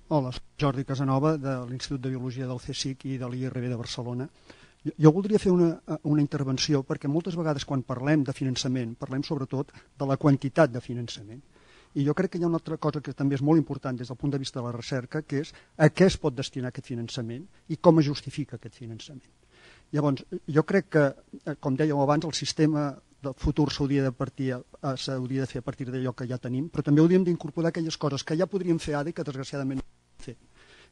Speaker 14: Hola, soc Jordi Casanova de l'Institut de Biologia del C S I C i de l'I R B de Barcelona. Jo, jo voldria fer una, una intervenció perquè moltes vegades quan parlem de finançament parlem sobretot de la quantitat de finançament. I jo crec que hi ha una altra cosa que també és molt important des del punt de vista de la recerca, que és a què es pot destinar aquest finançament i com es justifica aquest finançament. Llavors, jo crec que, com dèieu abans, el sistema del futur s'hauria de, partir, eh, s'hauria de fer a partir d'allò que ja tenim, però també hauríem d'incorporar aquelles coses que ja podríem fer ara i que desgraciadament no podem fer.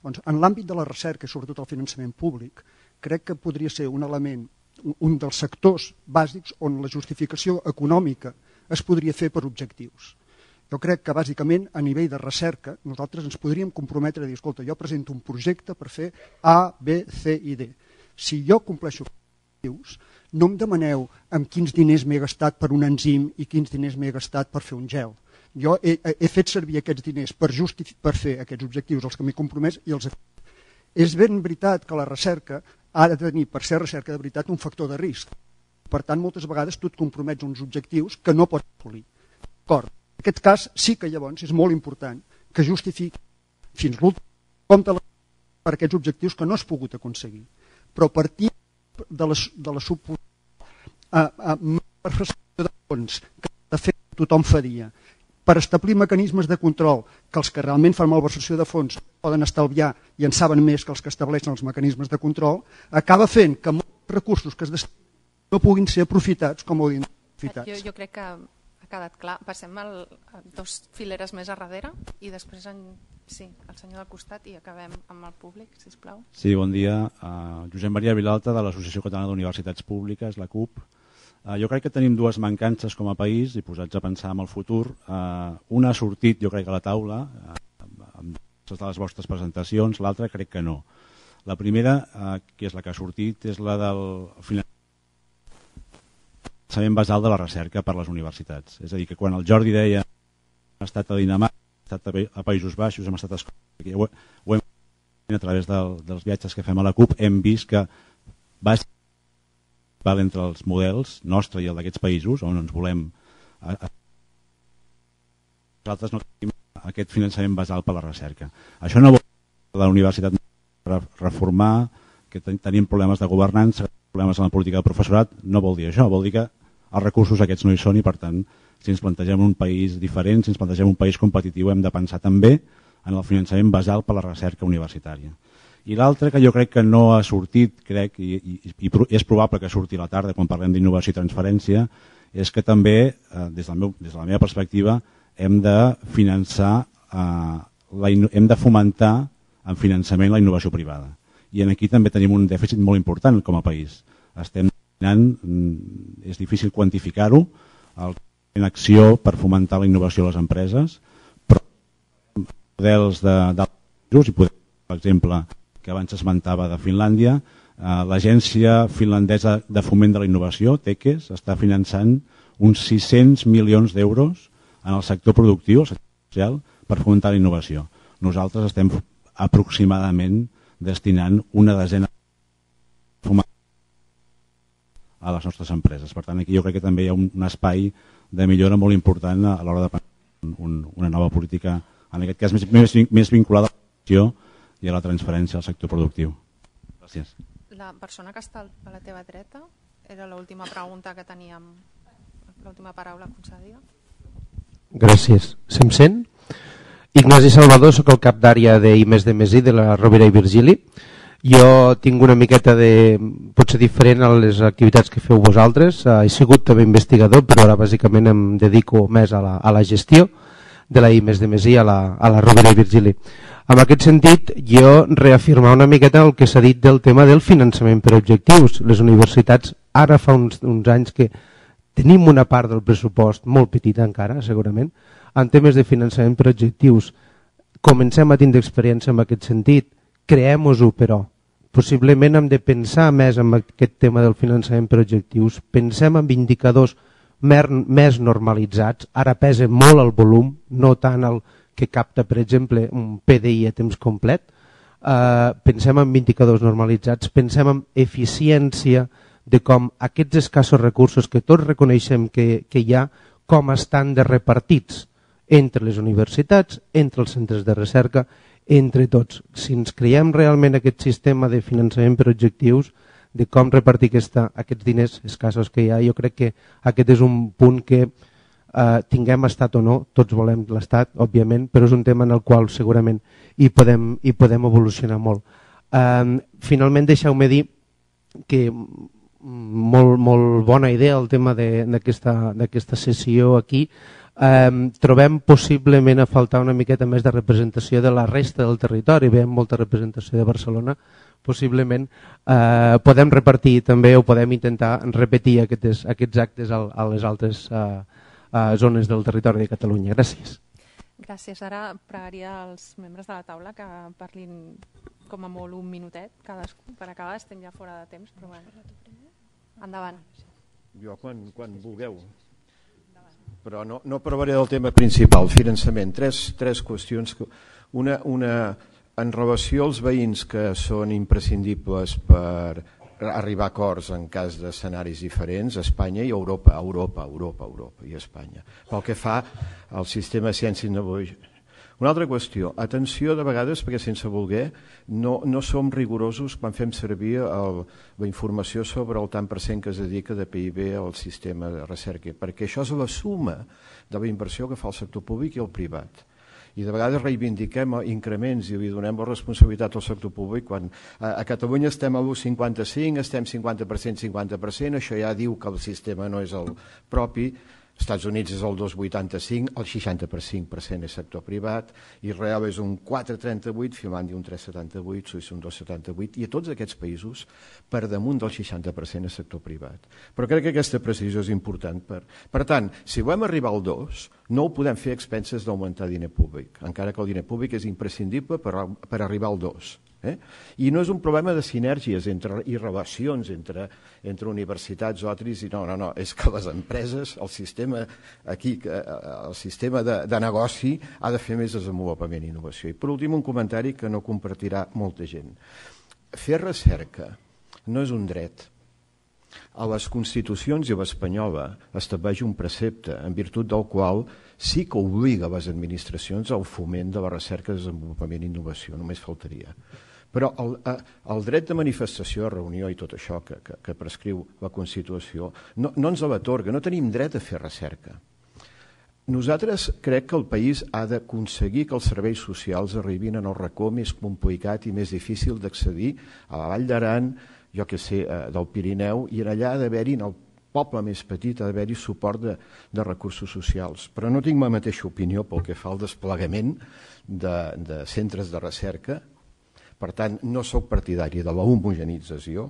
Speaker 14: Doncs, en l'àmbit de la recerca i sobretot el finançament públic, crec que podria ser un element, un dels sectors bàsics on la justificació econòmica es podria fer per objectius. Jo crec que bàsicament a nivell de recerca nosaltres ens podríem comprometre a dir, escolta, jo presento un projecte per fer A, B, C i D. Si jo compleixo objectius, no em demaneu amb quins diners m'he gastat per un enzim i quins diners m'he gastat per fer un gel. Jo he, he fet servir aquests diners per, per fer aquests objectius, els que m'he compromès i els he fet. És ben veritat que la recerca ha de tenir, per ser recerca de veritat, un factor de risc. Per tant, moltes vegades tu et compromets uns objectius que no pots assolir. D'acord. En aquest cas sí que llavors és molt important que justifiqui fins l'últim compte per aquests objectius que no has pogut aconseguir. Però partir de la, de la suposada malversació de fons que de fet tothom faria per establir mecanismes de control que els que realment fan malversació de fons poden estalviar i en saben més que els que estableixen els mecanismes de control, acaba fent que molts recursos que es destinen no puguin ser aprofitats com haurien de ser aprofitats.
Speaker 1: Jo, jo crec que ha quedat clar. Passem al, a dos fileres més a darrere i després en, sí, el senyor del costat i acabem amb el públic, sisplau.
Speaker 15: Sí, bon dia. Uh, Josep Maria Vilalta, de l'Associació Catalana d'Universitats Públiques, la C U P. Uh, jo crec que tenim dues mancances com a país i posats a pensar en el futur. Uh, una ha sortit, jo crec, a la taula, uh, amb de les vostres presentacions, l'altra crec que no. La primera, uh, que és la que ha sortit, és la del finançament basal de la recerca per les universitats. És a dir, que quan el Jordi deia hem estat a Dinamarca, hem estat a Països Baixos, hem estat a Escòcia, ho, ho hem a través del, dels viatges que fem a la C U P, hem vist que va val entre els models nostre i el d'aquests països on ens volem a, a... nosaltres no tenim aquest finançament basal per la recerca. Això no vol dir que la universitat reformar, que ten, tenim problemes de governança, problemes en la política del professorat, no vol dir això, vol dir que els recursos aquests no hi són i per tant si ens plantegem un país diferent, si ens plantegem un país competitiu hem de pensar també en el finançament basal per la recerca universitària. I l'altre que jo crec que no ha sortit, crec, i, i, i és probable que surti a la tarda quan parlem d'innovació i transferència, és que també, eh, des, del meu, des de la meva perspectiva, hem de finançar, eh, la, hem de fomentar en finançament la innovació privada. I aquí també tenim un dèficit molt important com a país. Estem anant, és difícil quantificar-ho, en acció per fomentar la innovació a les empreses, però models d'altres, i podem, per exemple, que abans s'esmentava de Finlàndia, eh, l'agència finlandesa de foment de la innovació, TEKES, està finançant uns sis-cents milions d'euros en el sector productiu, el sector social, per fomentar la innovació. Nosaltres estem aproximadament destinant una desena a les nostres empreses. Per tant, aquí jo crec que també hi ha un, un espai de millora molt important a l'hora de pensar un, una nova política, en aquest cas més, més, més vinculada a l'acció i a la transferència al sector productiu. Gràcies.
Speaker 1: La persona que està a la teva dreta era l'última pregunta que teníem, l'última paraula concedida.
Speaker 16: Gràcies. Se'm sent? Ignasi Salvador, soc el cap d'àrea d'I més D més I de la Rovira i Virgili. Jo tinc una miqueta de... potser diferent a les activitats que feu vosaltres. He sigut també investigador, però ara bàsicament em dedico més a la, a la gestió de la I més D més I a la, a la Rovira i Virgili. En aquest sentit, jo reafirmar una miqueta el que s'ha dit del tema del finançament per objectius. Les universitats, ara fa uns, uns anys que tenim una part del pressupost molt petita encara, segurament, en temes de finançament per objectius. Comencem a tindre experiència en aquest sentit. Creem-ho, però possiblement hem de pensar més en aquest tema del finançament per objectius. Pensem en indicadors més normalitzats. Ara pesa molt el volum, no tant el que capta, per exemple, un P D I a temps complet. Uh, pensem en indicadors normalitzats, pensem en eficiència de com aquests escassos recursos que tots reconeixem que, que hi ha, com estan de repartits entre les universitats, entre els centres de recerca, entre tots. Si ens creiem realment aquest sistema de finançament per objectius, de com repartir aquesta, aquests diners escassos que hi ha, jo crec que aquest és un punt que eh, tinguem estat o no, tots volem l'estat, òbviament, però és un tema en el qual segurament hi podem, hi podem evolucionar molt. Eh, finalment, deixeu-me dir que molt, molt bona idea el tema d'aquesta sessió aquí. Eh, trobem possiblement a faltar una miqueta més de representació de la resta del territori, veiem molta representació de Barcelona, possiblement eh, podem repartir també o podem intentar repetir aquests, aquests actes a, a les altres eh, eh, zones del territori de Catalunya. Gràcies.
Speaker 1: Gràcies. Ara pregaria als membres de la taula que parlin com a molt un minutet cadascú per acabar, estem ja fora de temps, però bueno. Endavant.
Speaker 2: Jo quan, quan vulgueu. Però no, no provaré del tema principal, finançament. Tres, tres qüestions. Una, una, en relació als veïns que són imprescindibles per arribar a acords en cas d'escenaris diferents, Espanya i Europa, Europa, Europa, Europa i Espanya. Pel que fa al sistema de ciència i innovació. Una altra qüestió, atenció de vegades, perquè sense voler no, no som rigorosos quan fem servir el, la informació sobre el tant per cent que es dedica de P I B al sistema de recerca, perquè això és la suma de la inversió que fa el sector públic i el privat. I de vegades reivindiquem increments i li donem la responsabilitat al sector públic quan a, a Catalunya estem a l'u coma cinquanta-cinc, estem cinquanta per cent, cinquanta per cent, això ja diu que el sistema no és el propi. Estats Units és el dos coma vuitanta-cinc, el seixanta per cent és sector privat, Israel és un quatre coma trenta-vuit, Finlàndia un tres coma setanta-vuit, Suïssa un dos coma setanta-vuit, i a tots aquests països per damunt del seixanta per cent és sector privat. Però crec que aquesta precisió és important. Per, per tant, si volem arribar al dos, no ho podem fer a expenses d'augmentar diner públic, encara que el diner públic és imprescindible per, per arribar al dos. Eh? I no és un problema de sinergies entre, i relacions entre, entre universitats o altres, i no, no, no, és que les empreses, el sistema, aquí, el sistema de, de negoci ha de fer més desenvolupament i innovació. I per últim un comentari que no compartirà molta gent. Fer recerca no és un dret. A les constitucions i l'espanyola estableix un precepte en virtut del qual sí que obliga les administracions al foment de la recerca, desenvolupament i innovació, només faltaria. Però el, el dret de manifestació, reunió i tot això que, que, que prescriu la Constitució no, no ens l'atorga, no tenim dret a fer recerca. Nosaltres crec que el país ha d'aconseguir que els serveis socials arribin en el racó més complicat i més difícil d'accedir a la Vall d'Aran, jo que sé, del Pirineu, i allà ha d'haver-hi, en el poble més petit, ha d'haver-hi suport de, de recursos socials. Però no tinc la mateixa opinió pel que fa al desplegament de, de centres de recerca. Per tant, no sóc partidari de la homogenització,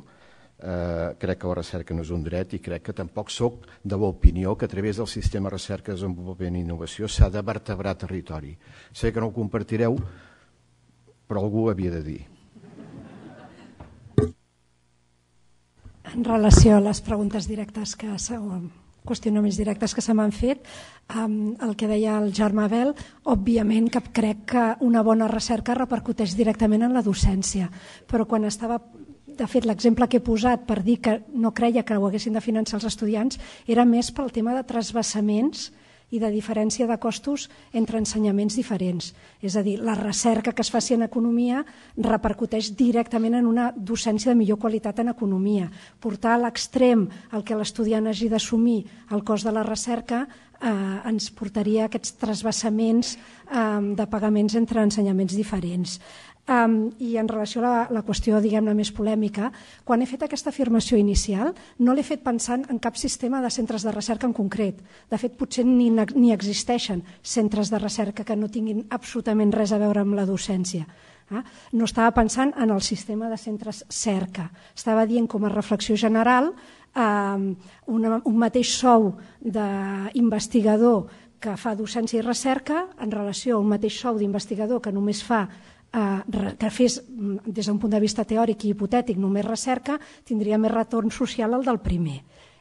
Speaker 2: eh, crec que la recerca no és un dret i crec que tampoc sóc de l'opinió que a través del sistema de recerca, desenvolupament i innovació s'ha de vertebrar territori. Sé que no ho compartireu, però algú ho havia de dir.
Speaker 3: En relació a les preguntes directes que s'han qüestionaments directes que se m'han fet, um, el que deia el Jaume Abel, òbviament que crec que una bona recerca repercuteix directament en la docència, però quan estava, de fet l'exemple que he posat per dir que no creia que ho haguessin de finançar els estudiants era més pel tema de transvasaments i de diferència de costos entre ensenyaments diferents. És a dir, la recerca que es faci en economia repercuteix directament en una docència de millor qualitat en economia. Portar a l'extrem el que l'estudiant hagi d'assumir el cost de la recerca eh, ens portaria a aquests transvasaments eh, de pagaments entre ensenyaments diferents. Um, I en relació a la, la qüestió diguem-ne més polèmica, quan he fet aquesta afirmació inicial no l'he fet pensant en cap sistema de centres de recerca en concret. De fet, potser ni, ni existeixen centres de recerca que no tinguin absolutament res a veure amb la docència. Eh? No estava pensant en el sistema de centres cerca. Estava dient com a reflexió general um, una, un mateix sou d'investigador que fa docència i recerca en relació a un mateix sou d'investigador que només fa que fes des d'un punt de vista teòric i hipotètic només recerca, tindria més retorn social el del primer.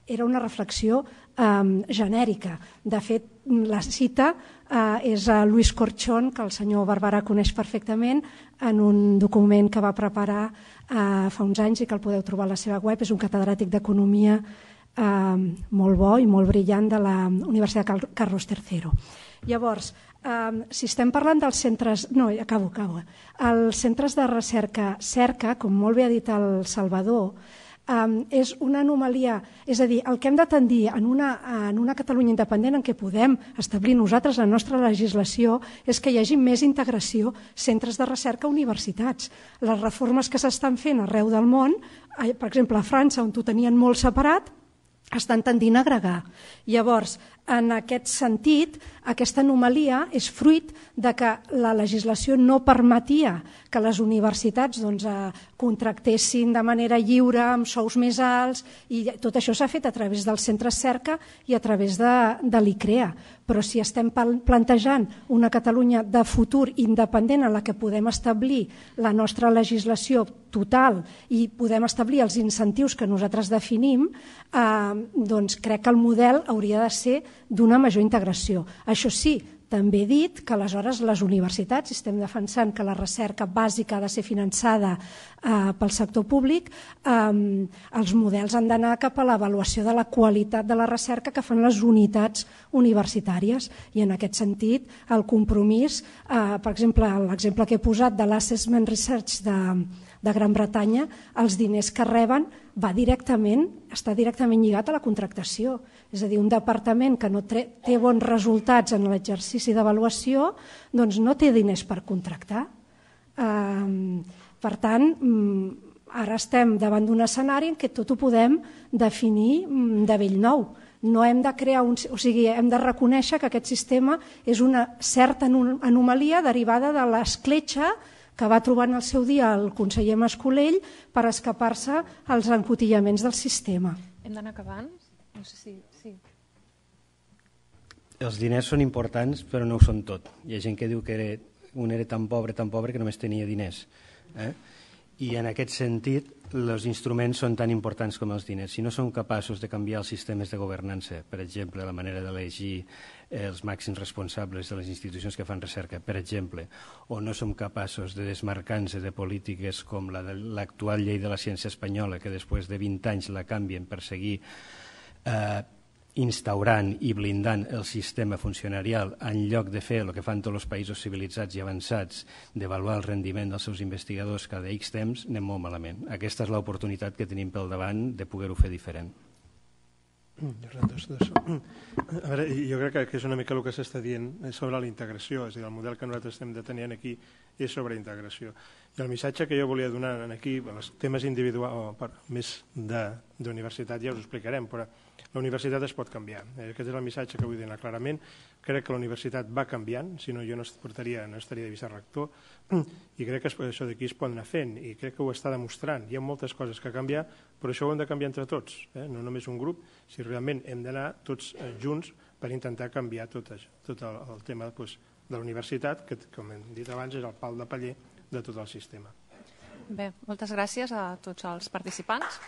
Speaker 3: Era una reflexió eh, genèrica. De fet, la cita eh, és a Luis Corchón, que el senyor Barberà coneix perfectament, en un document que va preparar eh, fa uns anys i que el podeu trobar a la seva web. És un catedràtic d'economia eh, molt bo i molt brillant de la Universitat Carlos tercero. Llavors, Um, si estem parlant dels centres... No, acabo, acabo. Els centres de recerca cerca, com molt bé ha dit el Salvador, Um, és una anomalia, és a dir, el que hem de tendir en una, en una Catalunya independent en què podem establir nosaltres la nostra legislació és que hi hagi més integració, centres de recerca, universitats. Les reformes que s'estan fent arreu del món, per exemple a França, on ho tenien molt separat, estan tendint a agregar. Llavors, en aquest sentit, aquesta anomalia és fruit de que la legislació no permetia que les universitats doncs, eh, contractessin de manera lliure, amb sous més alts, i tot això s'ha fet a través dels centres cerca i a través de, de l'I C R E A. Però si estem plantejant una Catalunya de futur independent en la que podem establir la nostra legislació total i podem establir els incentius que nosaltres definim, eh, doncs crec que el model hauria de ser d'una major integració. Això sí, també he dit que aleshores les universitats, si estem defensant que la recerca bàsica ha de ser finançada eh, pel sector públic, eh, els models han d'anar cap a l'avaluació de la qualitat de la recerca que fan les unitats universitàries. I en aquest sentit, el compromís, eh, per exemple, l'exemple que he posat de l'Assessment Research de, de Gran Bretanya, els diners que reben va directament, està directament lligat a la contractació. És a dir, un departament que no té bons resultats en l'exercici d'avaluació, doncs no té diners per contractar. Per tant, ara estem davant d'un escenari en què tot ho podem definir de bell nou. No hem de crear un, o sigui, hem de reconèixer que aquest sistema és una certa anomalia derivada de l'escletxa que va trobar en el seu dia el conseller Mascolell per escapar-se als encotillaments del sistema.
Speaker 1: Hem d'anar acabant? No sé si... Sí.
Speaker 4: Els diners són importants, però no ho són tot. Hi ha gent que diu que era, un era tan pobre, tan pobre, que només tenia diners. Eh? I en aquest sentit, els instruments són tan importants com els diners. Si no som capaços de canviar els sistemes de governança, per exemple, la manera d'elegir els màxims responsables de les institucions que fan recerca, per exemple, o no som capaços de desmarcar-nos de polítiques com la de l'actual llei de la ciència espanyola, que després de vint anys la canvien per seguir eh, instaurant i blindant el sistema funcionarial en lloc de fer el que fan tots els països civilitzats i avançats, d'avaluar el rendiment dels seus investigadors cada X temps, anem molt malament. Aquesta és l'oportunitat que tenim pel davant de poder-ho fer diferent.
Speaker 5: A veure, jo crec que és una mica el que s'està dient sobre la integració, és a dir, el model que nosaltres estem detenint aquí és sobre integració. I el missatge que jo volia donar aquí, els temes individuals, més d'universitat ja us ho explicarem, però la universitat es pot canviar. Aquest és el missatge que vull donar clarament. Crec que la universitat va canviant, si no jo no estaria, no estaria de vicerector, i crec que això d'aquí es pot anar fent, i crec que ho està demostrant. Hi ha moltes coses que canviar, però això ho hem de canviar entre tots, eh? No només un grup, si realment hem d'anar tots junts per intentar canviar tot, això, tot el, el tema doncs, de la universitat, que com hem dit abans és el pal de paller de tot el sistema.
Speaker 1: Bé, moltes gràcies a tots els participants.